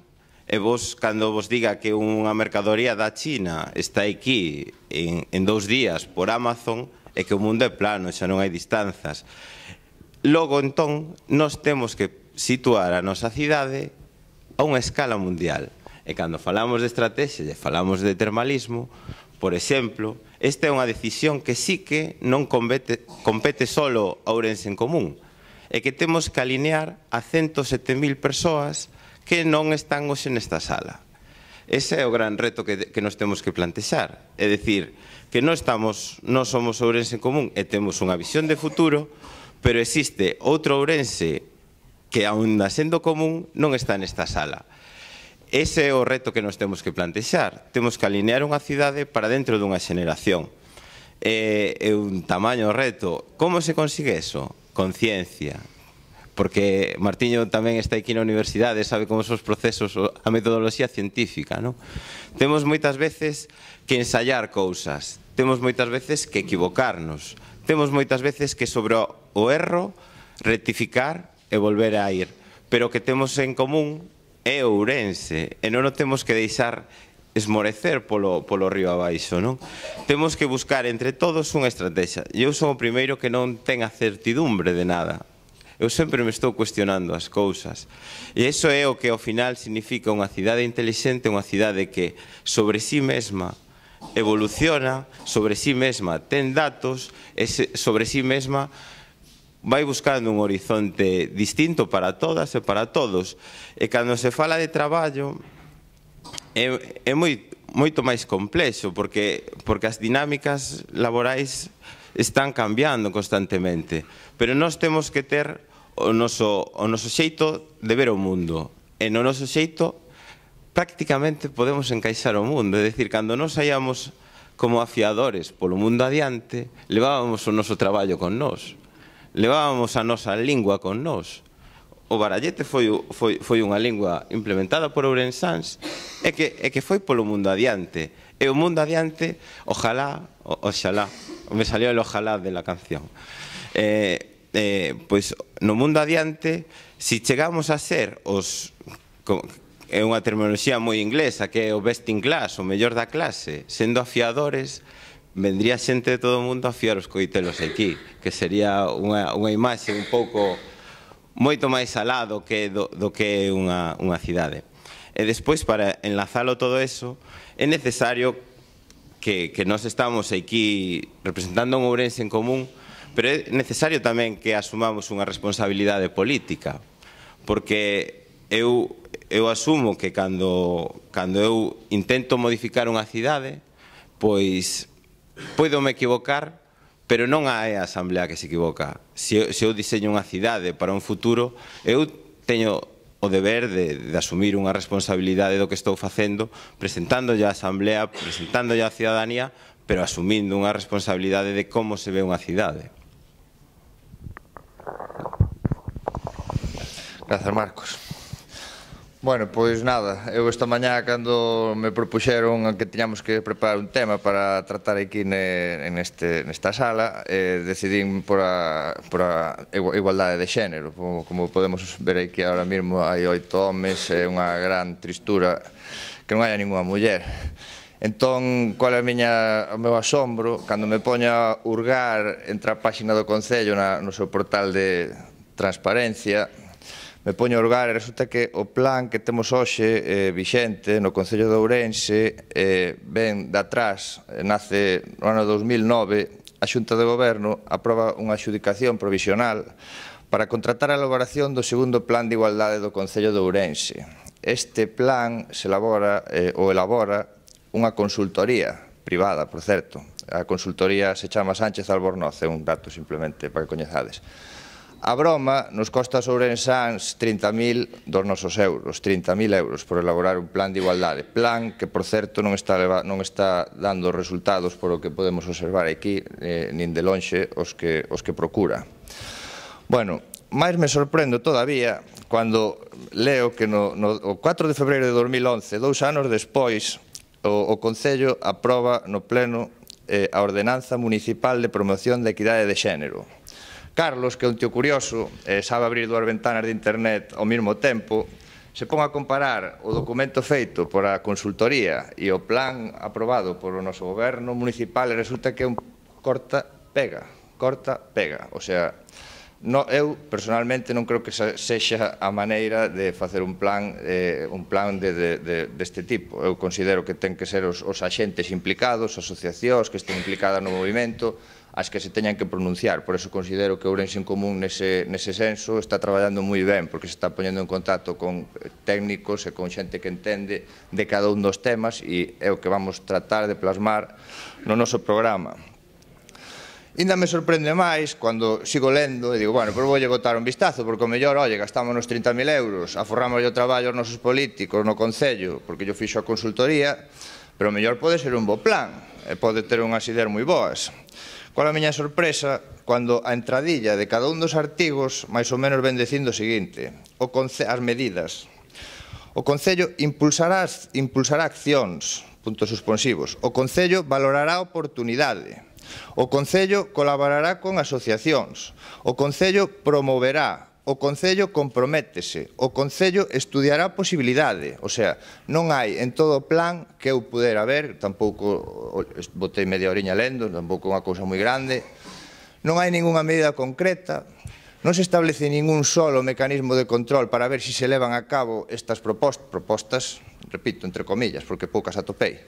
Speaker 7: e vos, cando vos diga que unha mercadoría da China está aquí en, en dous días por Amazon, é que o mundo é plano, xa non hai distanzas. Logo, entón, nós temos que situar a nosa cidade a unha escala mundial. E cando falamos de estrategia e falamos de termalismo, por exemplo, esta é unha decisión que sí que non compete, compete solo a Ourense en Común, é que temos que alinear a ciento sete mil persoas que non están hoxe nesta sala. Ese é o gran reto que, que nos temos que plantexar. É dicir, que non estamos, non somos Ourense en Común e temos unha visión de futuro, pero existe outro Ourense que, aún sendo común, non está nesta sala. Ese é o reto que nos temos que plantexar. Temos que alinear unha cidade para dentro dunha xeneración. É, é un tamaño reto. Como se consigue eso? Con ciencia. Porque Martiño tamén está aquí na universidade, sabe como son os procesos, a metodoloxía científica, non? Temos moitas veces que ensayar cousas, temos moitas veces que equivocarnos, temos moitas veces que sobre o erro rectificar e volver a ir. pero o que temos en común é Ourense, e non o temos que deixar esmorecer polo, polo río abaixo, non? Temos que buscar entre todos unha estrategia. E eu son o primeiro que non ten a certidumbre de nada. Eu sempre me estou cuestionando as cousas. E iso é o que ao final significa unha cidade intelixente, unha cidade que sobre sí mesma evoluciona, sobre sí mesma ten datos, e sobre sí mesma vai buscando un horizonte distinto para todas e para todos. E cando se fala de traballo é, é moi, moito máis complexo, porque, porque as dinámicas laborais están cambiando constantemente, pero nós temos que ter o noso, o noso xeito de ver o mundo, e no noso xeito prácticamente podemos encaixar o mundo, é dicir, cando nós saíamos como afiadores polo mundo adiante, levábamos o noso traballo con nós, levábamos a nosa lingua con nós. O barallete foi, foi, foi unha lingua implementada por ourensáns e que, e que foi polo mundo adiante. E o mundo adiante, ojalá, o, oxalá, me salió el ojalá de la canción. Eh, eh, pois no mundo adiante, si chegamos a ser os... é unha terminoloxía moi inglesa, que é o best in class, o mellor da clase, sendo afiadores, vendría xente de todo o mundo a afiar os coitelos aquí, que sería unha, unha imaxe un pouco moito máis alá do que, do, do que é unha, unha cidade. E despois, para enlazalo todo eso, é necesario que, que nós estamos aquí representando un Ourense en común, pero é necesario tamén que asumamos unha responsabilidade política, porque eu, eu asumo que cando, cando eu intento modificar unha cidade, pois podo me equivocar, pero non é a Asamblea que se equivoca. Se, se eu diseño unha cidade para un futuro, eu teño o deber de, de asumir unha responsabilidade do que estou facendo, presentándolle á Asamblea, presentándolle á cidadanía, pero asumindo unha responsabilidade de como se ve unha cidade.
Speaker 8: Grazas, Marcos. Bueno, pois nada, eu esta mañá cando me propuxeron que tiñamos que preparar un tema para tratar aquí ne, neste, nesta sala, eh, decidín por a, por a igualdade de xénero. Como, como podemos ver aquí ahora mesmo, hai oito homes, é unha gran tristura que non haya ninguna muller. Entón, qual é a miña, o meu asombro, cando me poño a hurgar entre a páxina do Concello na, no seu portal de transparencia, me poño a hurgar e resulta que o plan que temos hoxe eh, vixente no Concello de Ourense eh, ven de atrás, eh, nace no ano dos mil nove, a Xunta de Goberno aproba unha adxudicación provisional para contratar a elaboración do segundo plan de igualdade do Concello de Ourense. Este plan se elabora, eh, ou elabora unha consultoría privada, por certo. A consultoría se chama Sánchez Albornoz, é un dato simplemente para que coñezades. A broma nos costa aos ourensáns trinta mil dos nosos euros, trinta mil euros por elaborar un plan de igualdade. Plan que, por certo, non está, non está dando resultados por o que podemos observar aquí, eh, nin de lonxe os que, os que procura. Bueno, máis me sorprendo todavía cando leo que no, no o catro de febreiro de dos mil once, dous anos despois, o, o Concello aproba no pleno eh, a Ordenanza Municipal de Promoción de Equidade de Xénero. Carlos, que é un tío curioso, eh, sabe abrir dúas ventanas de internet ao mesmo tempo, se pon a comparar o documento feito por a consultoría e o plan aprobado por o noso goberno municipal e resulta que é un corta-pega, corta-pega. O sea, no, eu personalmente non creo que sexa a maneira de facer un plan, eh, un plan de, de, de, deste tipo. Eu considero que ten que ser os, os axentes implicados, asociacións que estén implicadas no movimento, as que se teñan que pronunciar. Por eso considero que Ourense en Común nese, nese senso está traballando moi ben, porque se está poñendo en contacto con técnicos e con xente que entende de cada un dos temas e é o que vamos tratar de plasmar no noso programa. Ainda me sorprende máis cando sigo lendo e digo, bueno, pero voulle botar un vistazo, porque o mellor, oye, gastamos nos trinta mil euros, aforramos o traballo aos nosos políticos no Concello, porque yo fixo a consultoría, pero o mellor pode ser un bo plan, e pode ter unhas ideas moi boas. Qual a miña sorpresa cando a entradilla de cada un dos artigos máis ou menos ven dicindo o seguinte, o as medidas. O Concello impulsará, impulsará accións, puntos suspensivos. O Concello valorará a oportunidade. O Concello colaborará con asociacións. O Concello promoverá o Concello comprométese, o Concello estudiará a posibilidade, o sea, non hai en todo o plan que eu pudera ver, tampouco botei media oriña lendo, tampouco unha cousa moi grande, non hai ningunha medida concreta, non se establece ningún solo mecanismo de control para ver se se levan a cabo estas propostas, propostas, repito, entre comillas, porque poucas atopei.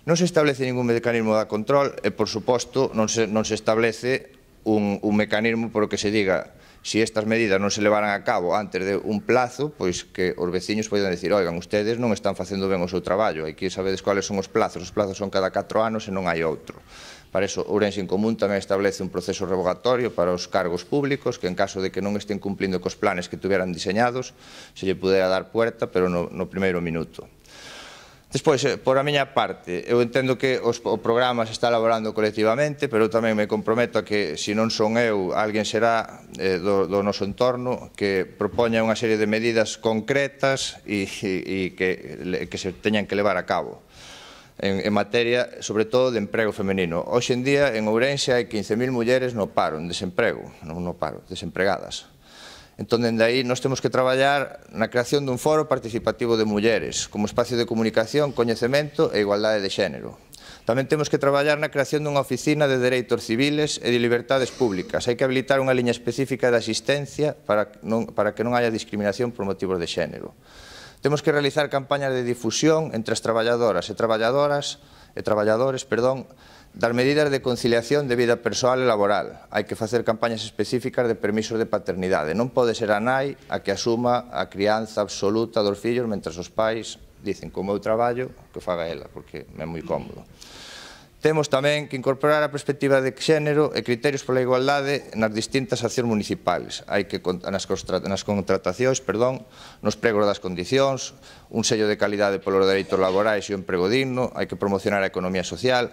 Speaker 8: Non se establece ningún mecanismo de control e, por suposto, non se, non se establece un, un mecanismo por o que se diga se si estas medidas non se levaran a cabo antes de un plazo, pois que os veciños poidan decir, oigan, ustedes non están facendo ben o seu traballo, hai que sabedes cuáles son os plazos, os plazos son cada catro anos e non hai outro. Para iso, Ourense en Común tamén establece un proceso revogatorio para os cargos públicos, que en caso de que non estén cumplindo cos planes que tuveran diseñados, se lle pudera dar puerta, pero no, no primeiro minuto. Despois, por a miña parte, eu entendo que os, o programa se está elaborando colectivamente, pero tamén me comprometo a que, se non son eu, alguén será eh, do, do noso entorno que propoña unha serie de medidas concretas e, e, e que, que se teñan que levar a cabo en, en materia, sobre todo, de emprego femenino. Hoxe en día, en Ourense, hai quince mil mulleres no paro, en desemprego, non no paro, desempregadas. Entón, dende aí, nós temos que traballar na creación dun foro participativo de mulleres, como espacio de comunicación, coñecemento e igualdade de xénero. Tamén temos que traballar na creación dunha oficina de dereitos civiles e de libertades públicas. Hai que habilitar unha liña específica de asistencia para, non, para que non haya discriminación por motivos de xénero. Temos que realizar campañas de difusión entre as traballadoras e traballadoras e traballadores, perdón, das medidas de conciliación de vida persoal e laboral. Hai que facer campañas específicas de permisos de paternidade. Non pode ser a nai a que asuma a crianza absoluta dos fillos mentre os pais dicen, como eu traballo, que faga ela, porque é moi cómodo. Temos tamén que incorporar a perspectiva de xénero e criterios pola igualdade nas distintas accións municipais. Hai que, nas, nas contratacións, perdón, nos pregos das condicións, un sello de calidade polos dereitos laborais e o emprego digno, hai que promocionar a economía social.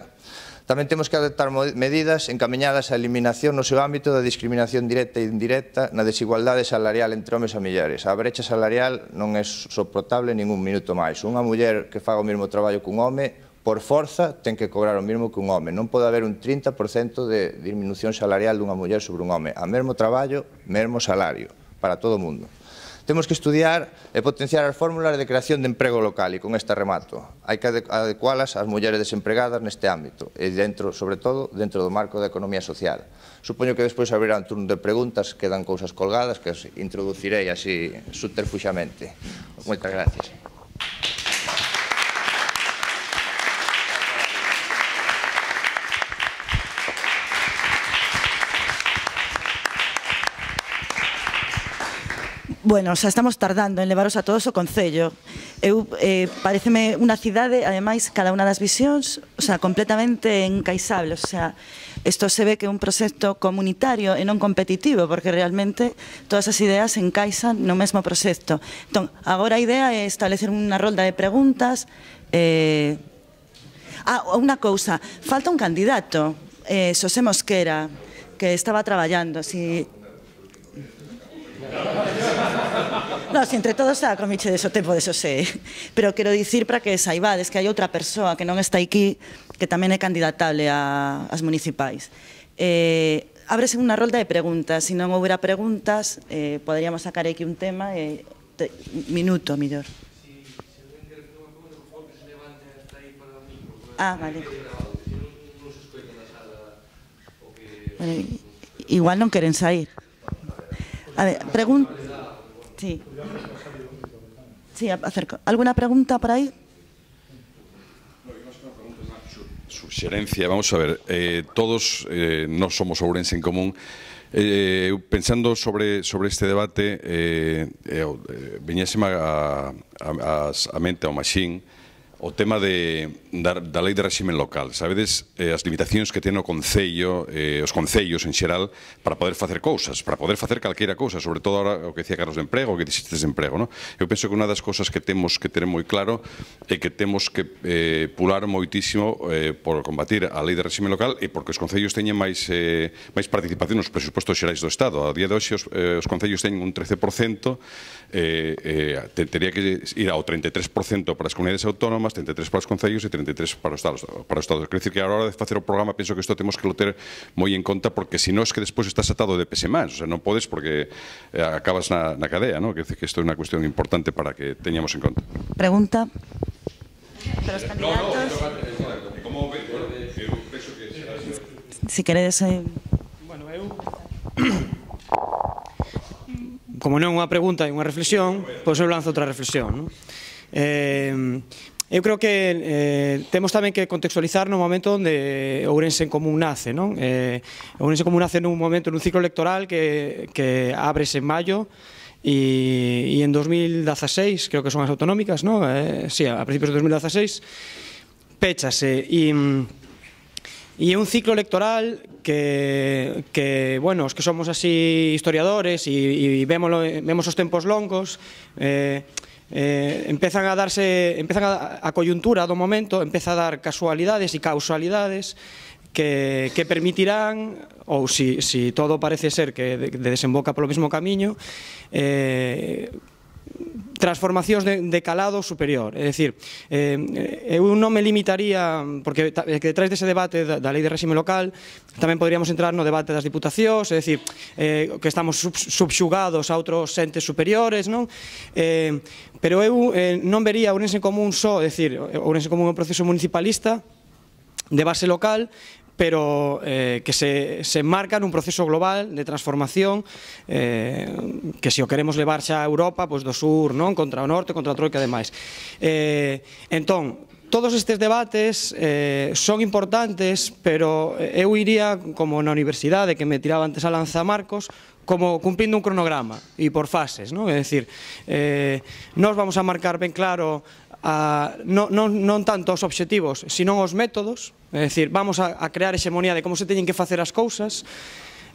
Speaker 8: Tamén temos que adoptar medidas encamiñadas á eliminación no seu ámbito da discriminación directa e indirecta na desigualdade salarial entre homes e mulleres. A brecha salarial non é soportable ningún minuto máis. Unha muller que faga o mesmo traballo cun home, por forza, ten que cobrar o mesmo que un home. Non pode haber un trinta por cento de disminución salarial dunha muller sobre un home. A mesmo traballo, mesmo salario, para todo o mundo. Temos que estudiar e potenciar as fórmulas de creación de emprego local, e con esta remato. Hai que adecualas ás mulleres desempregadas neste ámbito, e dentro, sobre todo, dentro do marco da economía social. Supoño que despois haberá un turno de preguntas, quedan cousas colgadas, que os introducirei así subterfuxamente. Moitas gracias.
Speaker 1: Bueno, xa estamos tardando en levaros a todos o Concello. Eu, eh, pareceme unha cidade, ademais, cada unha das visións, o sea, completamente encaixable. O sea, isto se ve que é un proxecto comunitario e non competitivo, porque realmente todas as ideas se encaixan no mesmo proxecto. Entón, agora a idea é establecer unha rolda de preguntas. Eh... Ah, unha cousa, falta un candidato, eh, Xosé Mosquera, que estaba traballando, si... No, si entre todos xa comiche deso tempo de Xosé, pero quero dicir para que saibades que hai outra persoa que non está aquí que tamén é candidatable a, ás municipais. Eh, ábrese unha rolda de preguntas, se non houbera preguntas, eh, poderíamos sacar aquí un tema e te, minuto, mellor. Ah, vale. Bueno, igual non queren sair. A ver, pregunta. Sí. Sí, acerco. ¿Alguna pregunta por ahí?
Speaker 9: Suxerencia, vamos a ver, eh, todos eh, non somos Ourense en Común. Eh, pensando sobre, sobre este debate, eh, eh, veñéseme a, a, a mente ao Maxín o tema de, da, da lei de réximen local. Sabedes eh, as limitacións que ten o Concello, eh, os concellos en xeral, para poder facer cousas, para poder facer calqueira cousa, sobre todo ahora o que decía Carlos de emprego, o que dixiste de emprego, no? Eu penso que unha das cousas que temos que ter moi claro é que temos que eh, pular moitísimo eh, por combatir a lei de réximen local e porque os concellos teñen máis, eh, máis participación nos presupostos xerais do Estado. A día de hoxe os, eh, os concellos teñen un trece por cento, eh, eh, te, teria que ir ao treinta e tres por cento para as comunidades autónomas autónomas, trinta e tres para os concellos e trinta e tres para os estados. Para os estados. Quer dizer que a hora de facer o programa penso que isto temos que lo ter moi en conta, porque se non é que despois estás atado de pese máis, o sea, non podes porque eh, acabas na, na cadea, ¿no? Quer dizer que isto é unha cuestión importante para que teñamos en conta.
Speaker 1: Pregunta. De los candidatos. Si queredes... Eh...
Speaker 3: Bueno, eu... Como non é unha pregunta e unha reflexión, pois eu lanzo outra reflexión, non? Eh, eu creo que eh, temos tamén que contextualizar no momento onde Ourense en Común nace, non? Eh, Ourense en Común nace nun momento, nun ciclo electoral que, que abres en maio e, e en dos mil dieciséis, creo que son as autonómicas, non? Eh, sí, a principios de dos mil dieciséis, péchase e... E é un ciclo electoral que, que bueno, os que somos así historiadores e, e vemos, vemos os tempos longos, eh, eh, empezan a darse, empezan a, a coyuntura do momento, empeza a dar casualidades e causalidades que, que permitirán, ou si, si todo parece ser que de, de desemboca polo mesmo camiño, eh, transformacións de, de calado superior. É dicir, eh, eu non me limitaría, porque detrás dese debate da, da lei de réxime local tamén poderíamos entrar no debate das diputacións, é dicir, eh, que estamos sub, subxugados a outros entes superiores, non? Eh, pero eu eh, non vería Ourense en Común só, é dicir, Ourense en Común é un proceso municipalista de base local, pero eh, que se, se enmarca nun proceso global de transformación eh, que se o queremos levar xa a Europa, pois do sur, non? Contra o norte, contra a troika e demais. Eh, entón, todos estes debates eh, son importantes, pero eu iría, como na universidade, que me tiraba antes a lanza Marcos, como cumplindo un cronograma e por fases, non? É dicir, eh, nós vamos a marcar ben claro a, non, non, non tanto os obxectivos, sino os métodos. É dicir, vamos a, a crear hexemonía de como se teñen que facer as cousas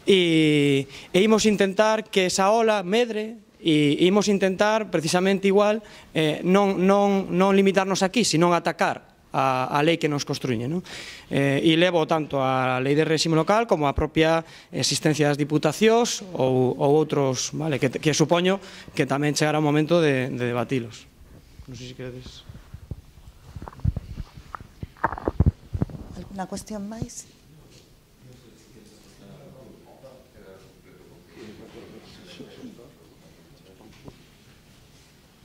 Speaker 3: e, e imos intentar que esa ola medre e imos intentar, precisamente igual, eh, non, non, non limitarnos aquí, sino atacar a, a lei que nos construye, non? Eh, e levo tanto a lei de réxime local como a propia existencia das diputacións ou, ou outros, vale, que, que supoño que tamén chegará o momento de, de debatilos. Non sei se queredes...
Speaker 1: Alguna cuestión máis?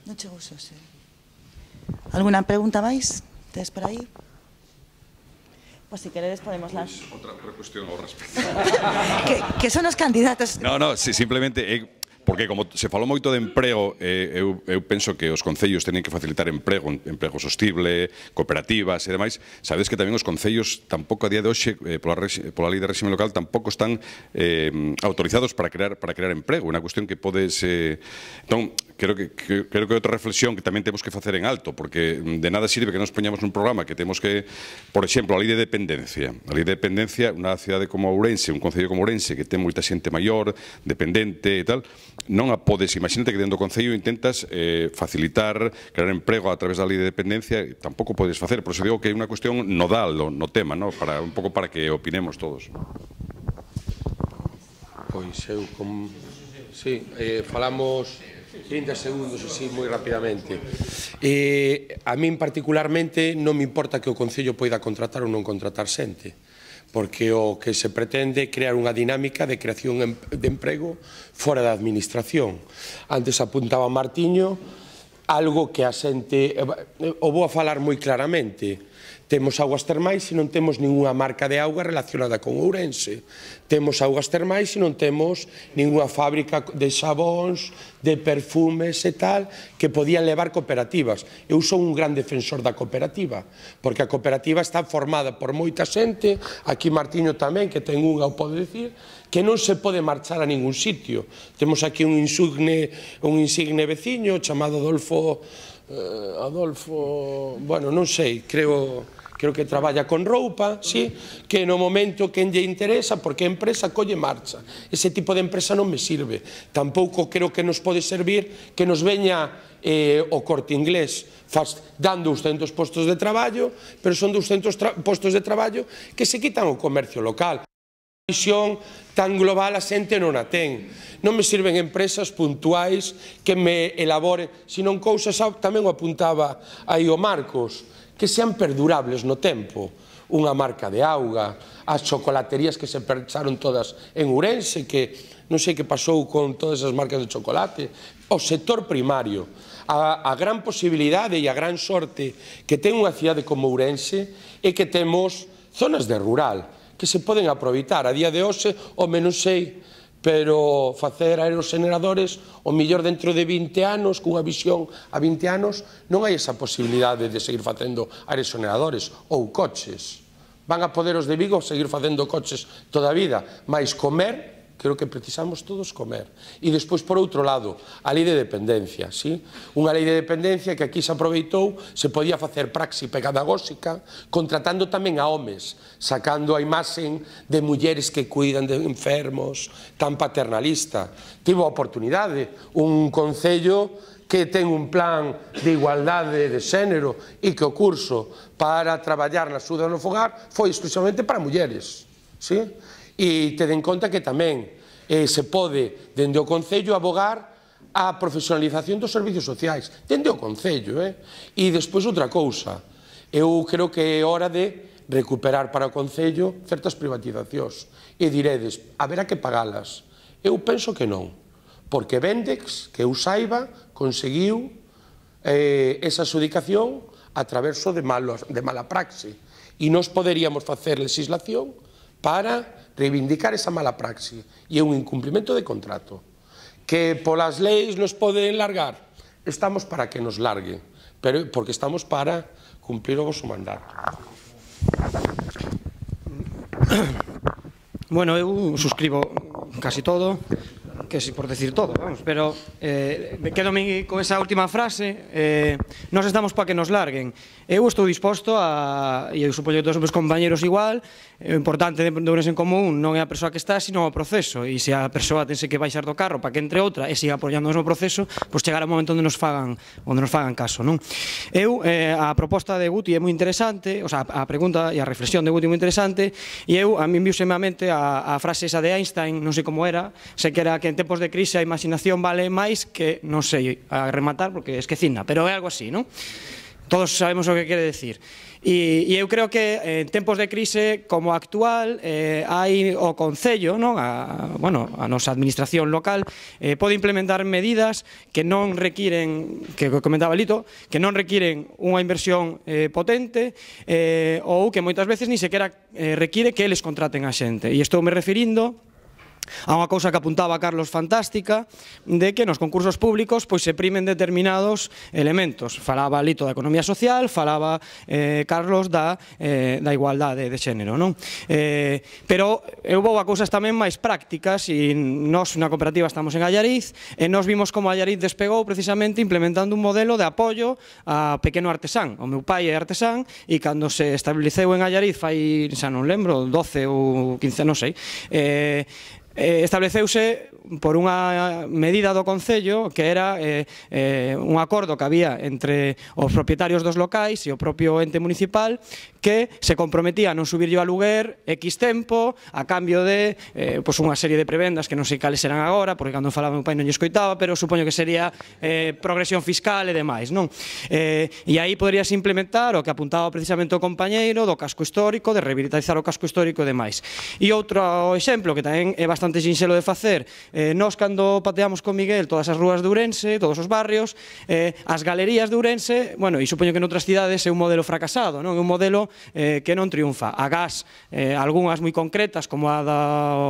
Speaker 1: Non chego xo, xe. Alguna pregunta máis? Tes por aí? Pois se queredes podemos lá.
Speaker 9: Outra cuestión ao respecto.
Speaker 1: que, que son os candidatos?
Speaker 9: No, no, si, simplemente... Eh, porque como se falou moito de emprego, eh, eu, eu penso que os concellos teñen que facilitar emprego, emprego sostible, cooperativas e demais. Sabedes que tamén os concellos tampouco a día de hoxe, eh, pola, pola lei de réxime local, tampouco están eh, autorizados para crear para crear emprego. Unha cuestión que podes... Eh, entón, creo que, que, creo que é outra reflexión que tamén temos que facer en alto, porque de nada sirve que nos poñamos nun programa que temos que, por exemplo, a lei de dependencia. A lei de dependencia, unha cidade como Ourense, un concello como Ourense, que ten moita xente maior, dependente e tal, non a podes, imagínate que dentro do concello intentas eh, facilitar, crear emprego a través da lei de dependencia, tampouco podes facer, por eso digo que é unha cuestión nodal no, no tema, ¿no? Para, un pouco para que opinemos todos.
Speaker 2: Pois eu, com... sí, eh, falamos trinta segundos, así, moi rapidamente. Eh, a min particularmente non me importa que o Concello poida contratar ou non contratar xente, porque o que se pretende é crear unha dinámica de creación de emprego fora da administración. Antes apuntaba Martiño, algo que a xente... O vou a falar moi claramente. Temos augas termais e non temos ninguna marca de auga relacionada con Ourense. Temos augas termais e non temos ninguna fábrica de xabóns, de perfumes e tal, que podían levar cooperativas. Eu son un gran defensor da cooperativa, porque a cooperativa está formada por moita xente, aquí Martiño tamén, que ten unha, o pode dicir, que non se pode marchar a ningún sitio. Temos aquí un insigne, un insigne veciño chamado Adolfo, eh, Adolfo, bueno, non sei, creo... creo que traballa con roupa, sí, que no momento que lle interesa, porque a empresa colle marcha. Ese tipo de empresa non me sirve. Tampouco creo que nos pode servir que nos veña eh, o Corte Inglés faz, dando doscientos postos de traballo, pero son doscientos postos de traballo que se quitan o comercio local. visión tan global a xente non a ten. Non me sirven empresas puntuais que me elaboren, senón cousas, tamén o apuntaba aí o Marcos, que sean perdurables no tempo. Unha marca de auga, as chocolaterías que se pecharon todas en Ourense, que non sei que pasou con todas as marcas de chocolate, o sector primario. A, a gran posibilidade e a gran sorte que ten unha cidade como Ourense é que temos zonas de rural que se poden aproveitar. A día de hoxe, o menos sei, pero facer aerogeneradores, o millor dentro de vinte anos, cunha visión a vinte anos, non hai esa posibilidade de seguir facendo aerogeneradores ou coches. Van a poder os de Vigo seguir facendo coches toda a vida, mas comer, creo que precisamos todos comer. E despois, por outro lado, a lei de dependencia, sí? Unha lei de dependencia que aquí se aproveitou, se podía facer praxi pedagóxica, contratando tamén a homes, sacando a imaxen de mulleres que cuidan de enfermos, tan paternalista. Tivo a oportunidade, un concello que ten un plan de igualdade de xénero e que o curso para traballar na axuda no fogar foi exclusivamente para mulleres, sí? E ten en conta que tamén eh, se pode, dende o Concello, abogar a profesionalización dos servicios sociais. Dende o Concello, eh? E despois outra cousa. Eu creo que é hora de recuperar para o Concello certas privatizacións. E diredes, haberá que pagalas. Eu penso que non. Porque Vendex, que eu saiba, conseguiu eh, esa adjudicación a través de, malos, de mala praxe. E nós poderíamos facer legislación para reivindicar esa mala praxe, e é un incumprimento de contrato. Que polas leis nos poden largar, estamos para que nos larguen, pero porque estamos para cumplir o vosso mandato.
Speaker 3: Bueno, eu suscribo casi todo, que si por decir todo, vamos, pero eh, quedome con esa última frase, eh, nos estamos para que nos larguen. Eu estou disposto a, e eu supoño que todos os meus compañeros igual, o importante de Ourense en Común non é a persoa que está, sino o proceso, e se a persoa tense que baixar do carro para que entre outra e siga apoiando no proceso, pois chegará un momento onde nos fagan, onde nos fagan caso, non? Eu, eh, a proposta de Guti é moi interesante, o sea, a pregunta e a reflexión de Guti é moi interesante, e eu, a mí viuseme a mente a, a frase esa de Einstein, non sei como era, sei que era que en tempos de crise a imaginación vale máis que, non sei, a rematar, porque esquecina, pero é algo así, non? Todos sabemos o que quere decir. E, e eu creo que en tempos de crise como a actual eh, hai o Concello, non? A, bueno, a nosa administración local eh, pode implementar medidas que non requiren, que comentaba Lito, que non requiren unha inversión eh, potente eh, ou que moitas veces ni sequera eh, require que eles contraten a xente. E estou me referindo a unha cousa que apuntaba Carlos fantástica, de que nos concursos públicos pois se primen determinados elementos. Falaba Lito da economía social, falaba eh, Carlos da, eh, da igualdade de xénero, non? Eh, pero eu vou a cousas tamén máis prácticas, e nós na cooperativa estamos en Allariz, e nós vimos como Allariz despegou precisamente implementando un modelo de apoio a pequeno artesán. O meu pai é artesán, e cando se estableceu en Allariz fai, xa non lembro, doce ou quince, non sei, eh, Eh, estableceuse por unha medida do Concello que era eh, eh, un acordo que había entre os propietarios dos locais e o propio ente municipal que se comprometía a non subirlle o aluguer X tempo a cambio de eh, pues unha serie de prebendas que non sei cales serán agora, porque cando falaba meu pai non lle escoitaba, pero supoño que sería eh, progresión fiscal e demais, non? Eh, e aí poderías implementar o que apuntaba precisamente o compañeiro do casco histórico, de rehabilitar o casco histórico e demais. E outro exemplo que tamén é bastante sinxelo de facer, eh, nós cando pateamos con Miguel todas as rúas de Ourense, todos os barrios, eh, as galerías de Ourense, bueno, e supoño que noutras cidades é un modelo fracasado, non? É un modelo eh, que non triunfa. Agás, eh, algunhas moi concretas, como a da,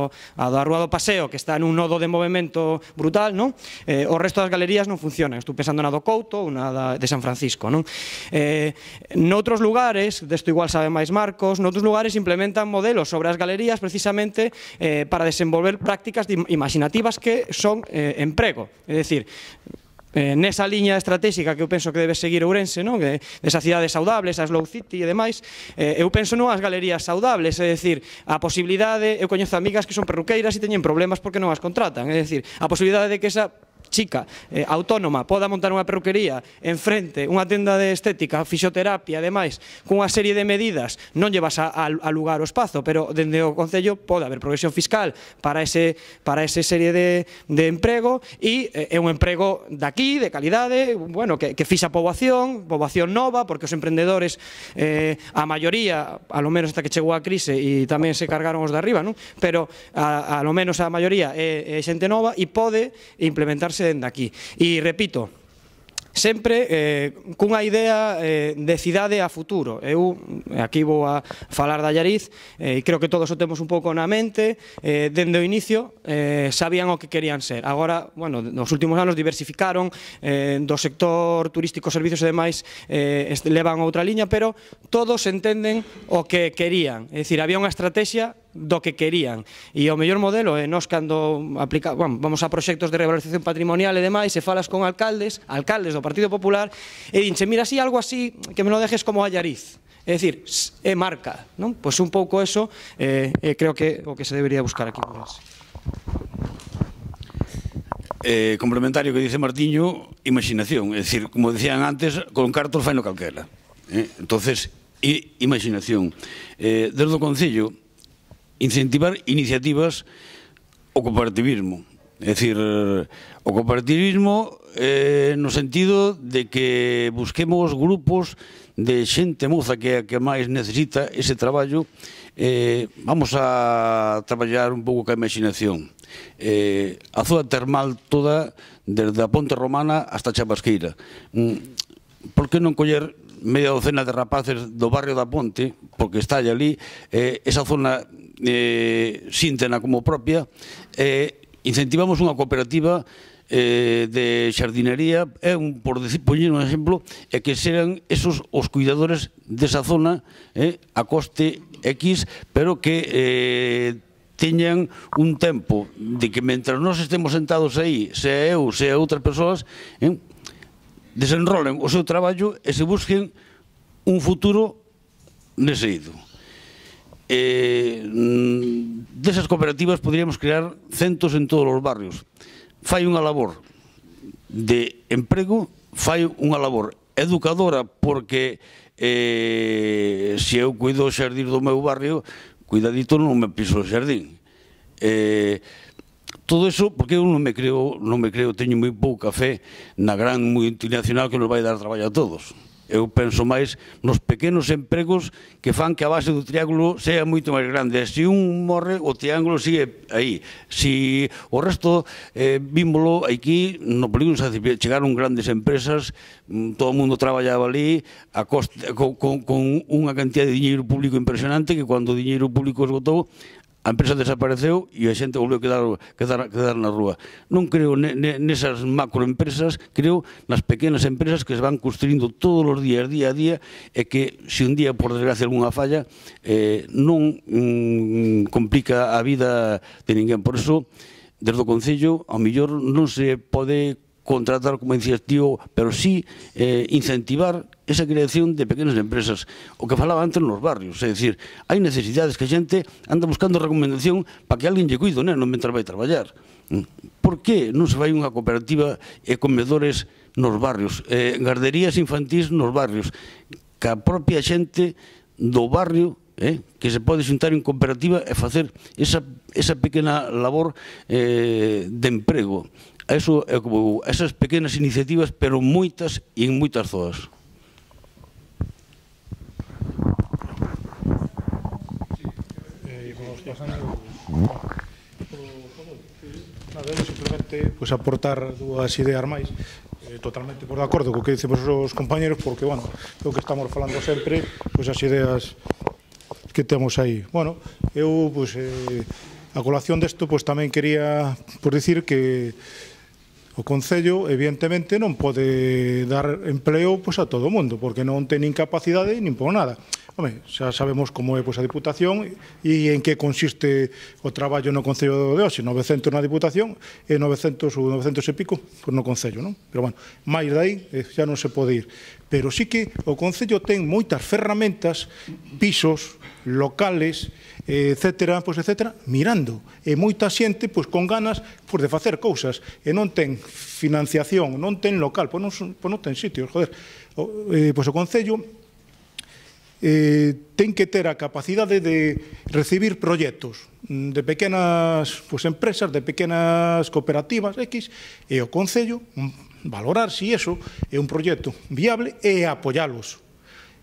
Speaker 3: a da Rúa do Paseo, que está nun nodo de movimento brutal, non? Eh, o resto das galerías non funcionan. Estou pensando na do Couto ou na da, de San Francisco, non? Eh, noutros lugares, desto igual sabe máis Marcos, noutros lugares implementan modelos sobre as galerías precisamente eh, para desenvolver prácticas imaginativas que son eh, emprego. É dicir, Eh, nesa liña estratégica que eu penso que debe seguir Ourense, non? Que, desa cidade saudable, esa slow city e demais, eh, eu penso non as galerías saudables, é dicir, a posibilidade, eu coñezo amigas que son perruqueiras e teñen problemas porque non as contratan, é dicir, a posibilidade de que esa chica, eh, autónoma, poda montar unha perruquería en frente, unha tenda de estética, fisioterapia, ademais, cunha serie de medidas, non lle vas a, a, a lugar o espazo, pero dende o Concello pode haber progresión fiscal para ese, para ese serie de, de emprego e é un emprego daqui, de calidade, bueno, que, que fixa poboación, poboación nova, porque os emprendedores, eh, a maioría, a lo menos hasta que chegou a crise e tamén se cargaron os de arriba, non? Pero a, a lo menos a maioría é, é xente nova e pode implementarse dende aquí. E repito, sempre eh, cunha idea eh, de cidade a futuro. Eu aquí vou a falar da Allariz e eh, creo que todos o temos un pouco na mente. Eh, dende o inicio eh, sabían o que querían ser. Agora, bueno, nos últimos anos diversificaron eh, do sector turístico, servicios e demais, eh, levan outra liña, pero todos entenden o que querían. É dicir, había unha estrategia do que querían. E o mellor modelo é nós cando aplica, bueno, vamos a proxectos de revalorización patrimonial e demais, e falas con alcaldes, alcaldes do Partido Popular, e dinche, mira, así, algo así, que me lo dejes como Allariz. É dicir, é marca, non? Pois un pouco eso, eh, eh, creo que o que se debería buscar aquí.
Speaker 4: Eh, complementario que dice Martiño, imaginación. É dicir, como decían antes, con cartos fai no calquera. Eh? Entonces, i, imaginación. Eh, desde o Concello, incentivar iniciativas o cooperativismo. É dicir, o cooperativismo eh, no sentido de que busquemos grupos de xente moza que, que máis necesita ese traballo. Eh, vamos a traballar un pouco ca imaginación. Eh, a zona termal toda, desde a Ponte Romana hasta Chabasqueira. Mm, por que non coller media docena de rapaces do barrio da Ponte, porque está ali, eh, esa zona eh, síntena como propia, eh, incentivamos unha cooperativa eh, de xardinería, é un, por decir, poñer un exemplo, é que serán esos os cuidadores desa zona eh, a coste X, pero que eh, teñan un tempo de que mentras nós estemos sentados aí, sea eu, sea outras persoas, eh, desenrolen o seu traballo e se busquen un futuro nese ido. Eh, desas cooperativas poderíamos crear centos en todos os barrios. Fai unha labor de emprego, fai unha labor educadora, porque eh, se eu cuido o xardín do meu barrio, cuidadito non me piso o xardín. Eh, todo eso, porque eu non me creo, non me creo, teño moi pouca fe na gran multinacional que nos vai dar traballo a todos. Eu penso máis nos pequenos empregos que fan que a base do triángulo sea moito máis grande. Se un morre, o triángulo sigue aí. Se o resto, eh, vímolo aquí, no polígono chegaron grandes empresas, todo o mundo traballaba ali, a costa, con, con, con unha cantidad de diñeiro público impresionante, que cando o diñeiro público esgotou, a empresa desapareceu e a xente volveu a quedar, quedar, quedar na rúa. Non creo nesas macroempresas, creo nas pequenas empresas que se van construindo todos os días, día a día, e que se un día, por desgracia, algunha falla, eh, non mm, complica a vida de ninguén. Por eso, desde o Concello, ao mellor non se pode contratar, como decías tío, pero sí eh, incentivar esa creación de pequenas empresas. O que falaba antes nos barrios, é dicir, hai necesidades que a xente anda buscando recomendación para que alguén lle cuide o neno mentre vai traballar. Por que non se fai unha cooperativa e comedores nos barrios, eh, garderías infantís nos barrios, que a propia xente do barrio eh, que se pode xuntar en cooperativa e facer esa, esa pequena labor eh, de emprego. Eso é como esas pequenas iniciativas, pero moitas e en moitas zonas.
Speaker 6: Eh, vamos pasando. Nada, simplemente pues, aportar dúas ideas máis. Eh, totalmente por de acordo co que dicen os compañeros, porque, bueno, é o que estamos falando sempre, pues, as ideas que temos aí. Bueno, eu, pues, eh, a colación desto, pues, tamén quería por dicir que o Concello, evidentemente, non pode dar empleo pois, a todo o mundo, porque non ten nin capacidade nin por nada. Home, xa sabemos como é pois, a Diputación e en que consiste o traballo no Concello de hoxe, novecentos na Diputación e novecentos ou novecentos e pico pois, no Concello, non? Pero, bueno, máis dai xa non se pode ir. Pero sí que o Concello ten moitas ferramentas, pisos, locales, etcétera, pois, etcétera, mirando. E moita xente pois, con ganas pois, de facer cousas e non ten financiación, non ten local, pois non, pois non ten sitios, joder. O, eh, pois o Concello eh, ten que ter a capacidade de recibir proxectos de pequenas pois, empresas, de pequenas cooperativas X, e o Concello valorar se si iso é un proxecto viable e apoialos.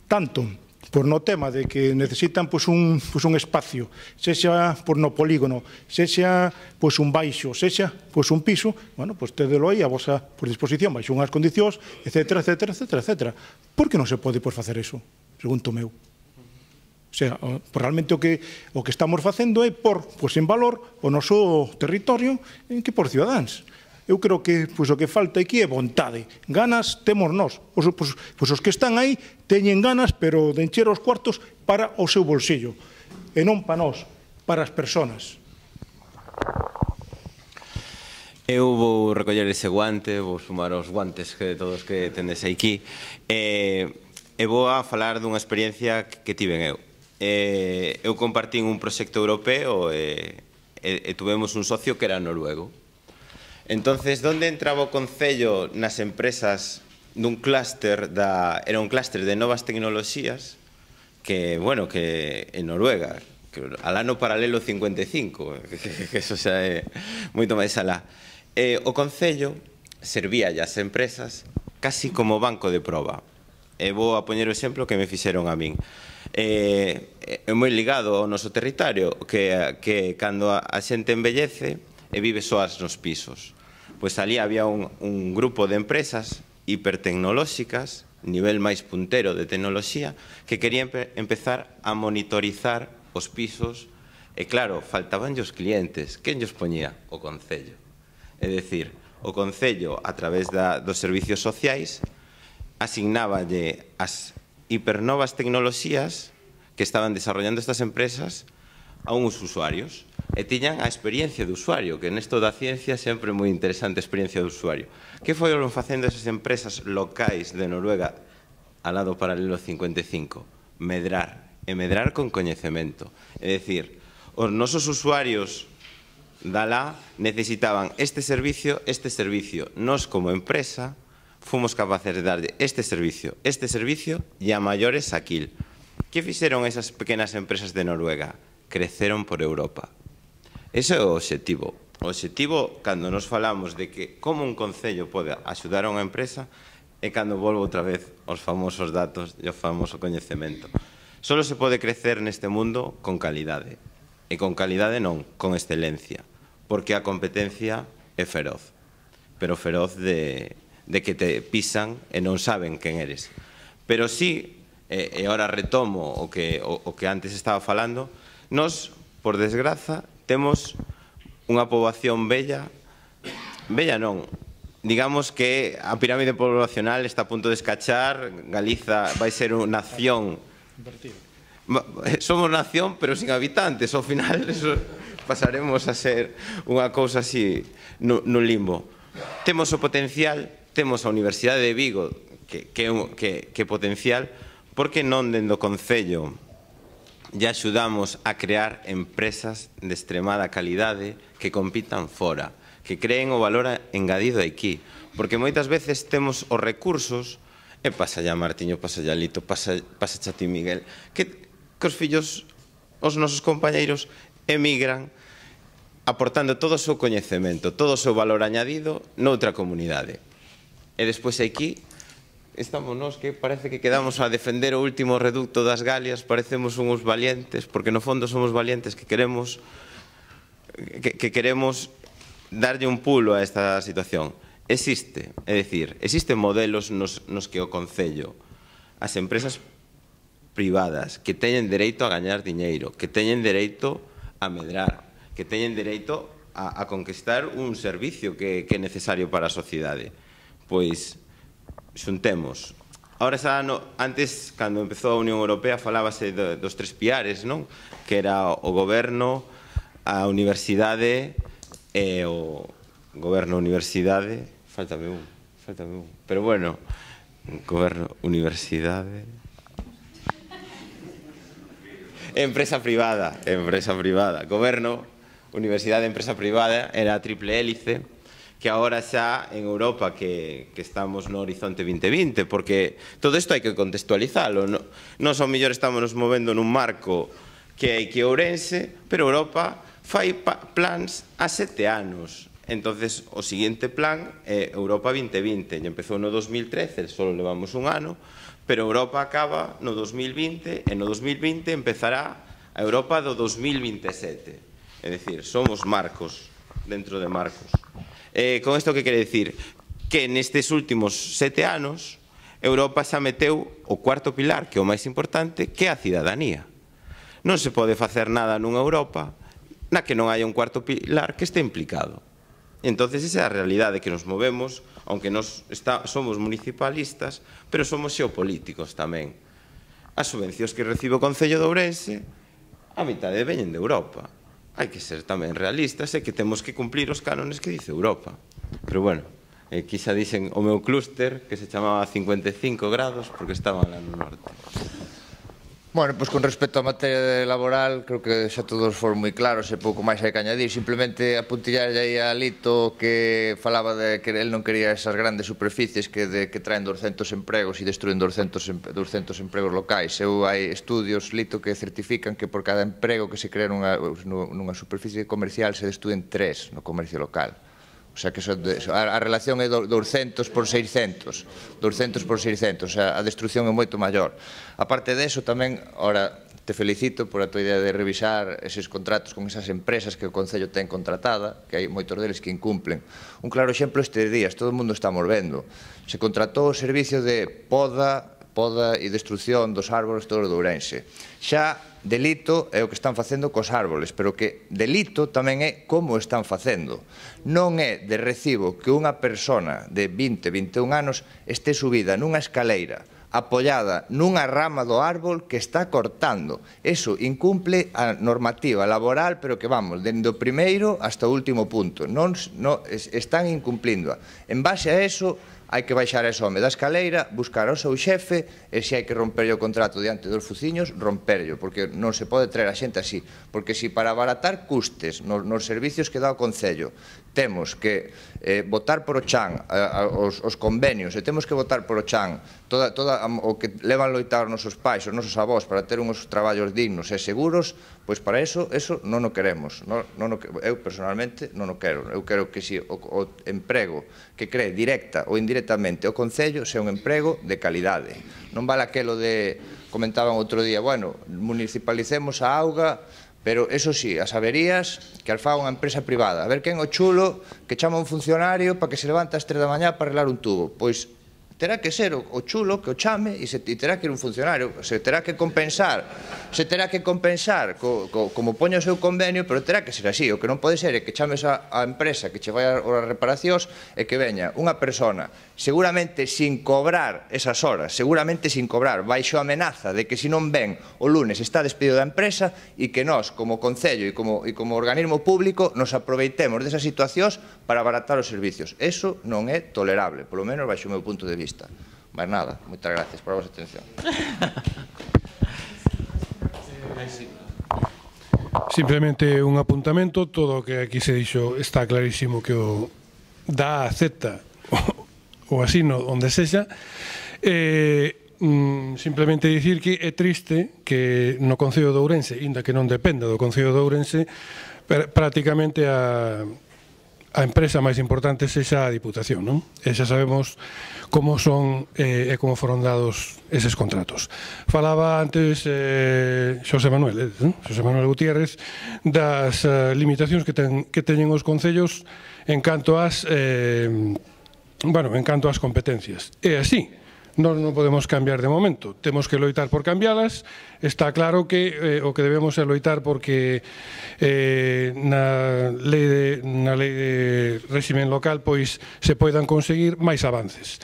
Speaker 6: Tanto por no tema de que necesitan pois, un, pois, un espacio, sexa por no polígono, sexa pois, un baixo, sexa pois, un piso, bueno, pois tedelo aí a vosa por disposición, baixo unhas condicións, etcétera, etcétera, etcétera, etcétera. Por que non se pode pois, facer eso? Pregunto meu. O sea, realmente o que, o que estamos facendo é por, pois, en valor o noso territorio en que por cidadáns. Eu creo que pois, o que falta aquí é vontade. Ganas temos nós. Os, pois, pois, os que están aí teñen ganas, pero de encher os cuartos para o seu bolsillo. E non para nós, para as persoas.
Speaker 7: Eu vou recoller ese guante, vou sumar os guantes que todos que tendes aquí, e, e vou a falar dunha experiencia que tiven eu. E, eu compartín un proxecto europeo e, e, e tuvemos un socio que era noruego. Entonces, onde entraba o Concello nas empresas dun clúster da, era un clúster de novas tecnoloxías que, bueno, que en Noruega, que al ano paralelo cincuenta e cinco, que, que eso xa é moito máis alá. Eh, o Concello servía as empresas casi como banco de proba. E vou a poñer o exemplo que me fixeron a min. Eh, é moi ligado ao noso territorio, que, que cando a, a xente envellece e vive soas nos pisos. Pois ali había un, un grupo de empresas hipertecnolóxicas, nivel máis puntero de tecnoloxía, que querían empezar a monitorizar os pisos e, claro, faltaban os clientes. Quen os poñía? O Concello. É dicir, o Concello, a través da, dos servicios sociais, asignáballe as hipernovas tecnoloxías que estaban desarrollando estas empresas a uns usuarios. E tiñan a experiencia de usuario, que nesto da ciencia sempre é moi interesante a experiencia de usuario. Que foron facendo esas empresas locais de Noruega al lado paralelo cincuenta e cinco? Medrar, e medrar con coñecemento. É dicir, os nosos usuarios da lá necesitaban este servicio, este servicio. Nos, como empresa, fomos capaces de darlle este servicio, este servicio e a maiores aquil. Que fixeron esas pequenas empresas de Noruega? Creceron por Europa. Ese é o obxectivo. O obxectivo, cando nos falamos de que como un concello pode axudar a unha empresa, é cando volvo outra vez aos famosos datos e ao famoso coñecemento. Solo se pode crecer neste mundo con calidade. E con calidade non, con excelencia. Porque a competencia é feroz. Pero feroz de, de que te pisan e non saben quen eres. Pero sí, e, e ahora retomo o que, o, o que antes estaba falando, nos, por desgraza, temos unha poboación bella, bella non, digamos que a pirámide poblacional está a punto de escachar, Galiza vai ser unha nación, somos nación pero sin habitantes, ao final eso, pasaremos a ser unha cousa así no, no limbo. Temos o potencial, temos a Universidade de Vigo, que, que, que, que potencial, porque non dende o Concello e axudamos a crear empresas de extremada calidade que compitan fora, que creen o valor engadido aquí. Porque moitas veces temos os recursos, e pasa ya Martiño, pasa ya Lito, pasa, pasa xa ti Miguel, que, que os fillos, os nosos compañeiros, emigran aportando todo o seu coñecemento, todo o seu valor añadido noutra comunidade. E despois aquí estamos nós que parece que quedamos a defender o último reducto das Galias, parecemos uns valientes, porque no fondo somos valientes que queremos que, que queremos darlle un pulo a esta situación. Existe, é dicir, existen modelos nos, nos que o Concello, as empresas privadas que teñen dereito a gañar diñeiro, que teñen dereito a medrar, que teñen dereito a, a conquistar un servicio que, que é necesario para a sociedade. Pois xuntemos Ahora xa, no, antes, cando empezou a Unión Europea, falábase de, dos tres piares, non? Que era o goberno, a universidade e o goberno, universidade, faltame un, faltame un, pero bueno, goberno, universidade, empresa privada, empresa privada, goberno, universidade, empresa privada, era a triple hélice, que agora xa en Europa que, que estamos no horizonte vinte vinte, porque todo isto hai que contextualizalo. No, nos ao mellor estamos nos movendo nun marco que hai que Ourense, pero Europa fai pa, plans a sete anos. Entonces, o seguinte plan é Europa vinte vinte, e empezou no dos mil trece, só levamos un ano, pero Europa acaba no dos mil vinte, e no dos mil vinte empezará a Europa do dos mil vinte e sete. É dicir, somos marcos dentro de marcos. Eh, con isto que quere dicir? Que nestes últimos sete anos Europa xa meteu o cuarto pilar, que é o máis importante, que é a cidadanía. Non se pode facer nada nunha Europa na que non haya un cuarto pilar que este implicado. Entonces esa é a realidade que nos movemos, aunque nos está, somos municipalistas, pero somos xeopolíticos tamén. As subvencións que recibe o Concello de Ourense, a mitade veñen de Europa. Hai que ser tamén realistas e que temos que cumplir os cánones que dice Europa. Pero bueno, eh, quizá dixen o meu clúster, que se chamaba cincuenta e cinco grados, porque estaban lá no norte.
Speaker 8: Bueno, pois con respecto á materia laboral, creo que xa todos foron moi claros e pouco máis hai que añadir. Simplemente apuntillar aí a Lito que falaba de que el non quería esas grandes superficies que, de, que traen doscientos empregos e destruen doscientos empregos locais. Eu hai estudios, Lito, que certifican que por cada emprego que se crea nunha, nunha superficie comercial se destruen tres no comercio local. O sea, que so, a, a relación é doscientos por seiscentos, doscientos por seiscentos, o sea, a destrucción é moito maior. A parte deso, tamén, ora, te felicito por a tua idea de revisar eses contratos con esas empresas que o Concello ten contratada, que hai moitos deles que incumplen. Un claro exemplo estes días, todo o mundo está vendo. Se contratou o servicio de poda, poda e destrucción dos árbores todos de Ourense. Xa delito é o que están facendo cos árboles, pero que delito tamén é como están facendo. Non é de recibo que unha persona de vinte, vinte e un anos este subida nunha escaleira apoiada nunha rama do árbol que está cortando. Eso incumple a normativa laboral, pero que vamos, dende o primeiro hasta o último punto. Non, non, están incumplindo. En base a eso, hai que baixar ese home da escaleira, buscar ao seu xefe, e se hai que romperlle o contrato diante dos fuciños, romperlle, porque non se pode traer a xente así. Porque se para abaratar custes nos, nos servicios que dá o Concello temos que eh, votar por o chan a, a, os, os convenios, e temos que votar por o chan toda, toda a, o que levan loitar os nosos pais, os nosos avós, para ter uns traballos dignos e seguros, pois para eso, eso non o queremos. Non, non o, eu personalmente non o quero. Eu quero que si o, o emprego que cree directa ou indirectamente o Concello sea un emprego de calidade. Non vale aquelo de, comentaban outro día, bueno, municipalicemos a auga, pero, eso sí, as averías que as faga unha empresa privada. A ver quen o chulo que chama un funcionario para que se levante ás tres da mañá para arreglar un tubo. Pois terá que ser o, o chulo que o chame e, se, e terá que ir un funcionario, se terá que compensar, se terá que compensar co, co, como poña o seu convenio, pero terá que ser así. O que non pode ser é que chames a, a empresa que che vai a, a reparacións e que veña unha persona seguramente sin cobrar esas horas, seguramente sin cobrar, baixo amenaza de que se non ven o lunes está despedido da empresa, e que nós, como Concello e como, e como organismo público, nos aproveitemos desas situacións para abaratar os servicios. Eso non é tolerable, polo menos baixo o meu punto de vista. Mas nada, moitas gracias por a vosa atención.
Speaker 5: Simplemente un apuntamento, todo o que aquí se dixo está clarísimo que o da acepta o asino onde sexa. Eh, mm, simplemente dicir que é triste que no Concello de Ourense, inda que non dependa do Concello de Ourense, prácticamente a, a empresa máis importante sexa a Diputación, non? E xa sabemos como son eh, e como foron dados eses contratos. Falaba antes eh, Xosé Manuel, eh, Xosé Manuel Gutiérrez, das eh, limitacións que, ten, que teñen os concellos en canto ás eh, bueno, en canto ás competencias. É así. nós non podemos cambiar de momento, temos que loitar por cambialas. Está claro que eh, o que debemos é loitar porque eh, na lei de, na lei de réximen local pois se poidan conseguir máis avances.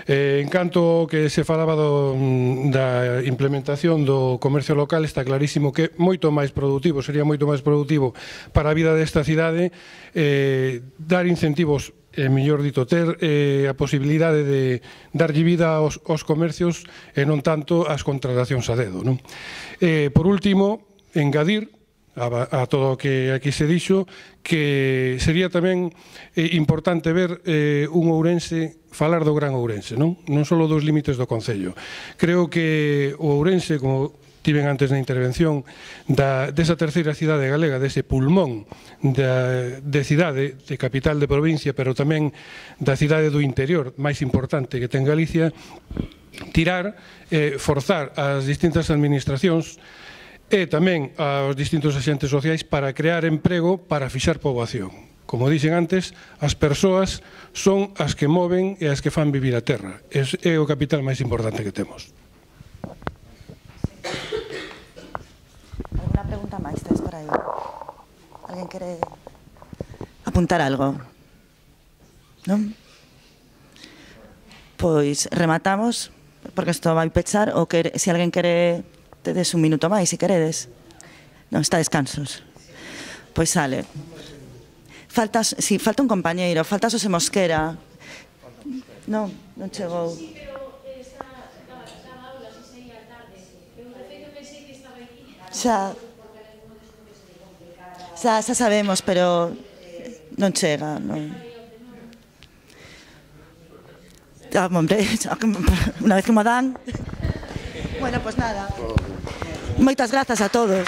Speaker 5: Eh, en canto que se falaba do, da implementación do comercio local, está clarísimo que moito máis productivo, sería moito máis productivo para a vida desta cidade eh, dar incentivos, eh, mellor dito, ter eh, a posibilidade de darlle vida aos, aos comercios e non tanto ás contratacións a dedo, non? Eh, por último, engadir a, a todo o que aquí se dixo que sería tamén eh, importante ver eh, un Ourense, falar do Gran Ourense, non? Non só dos límites do Concello. Creo que o Ourense, como tiven antes na intervención, da, desa terceira cidade galega, dese pulmón da, de cidade, de capital de provincia, pero tamén da cidade do interior máis importante que ten Galicia, tirar, eh, forzar as distintas administracións e tamén aos distintos axentes sociais para crear emprego para fixar poboación. Como dixen antes, as persoas son as que moven e as que fan vivir a terra. É, é o capital máis importante que temos.
Speaker 1: Alguna pregunta máis tes por aí? Alguén quere apuntar algo? Non? Pois rematamos, porque isto vai pechar, ou que, se alguén quere, tedes un minuto máis, se queredes. Non, está descansos. Pois sale. Faltas, si, falta un compañeiro, falta Xosé Mosquera. Non, non chegou. Xa, xa, xa sabemos, pero non chega, non. Ah, hombre, unha vez que mo dan. Bueno, pois nada. Moitas grazas a todos.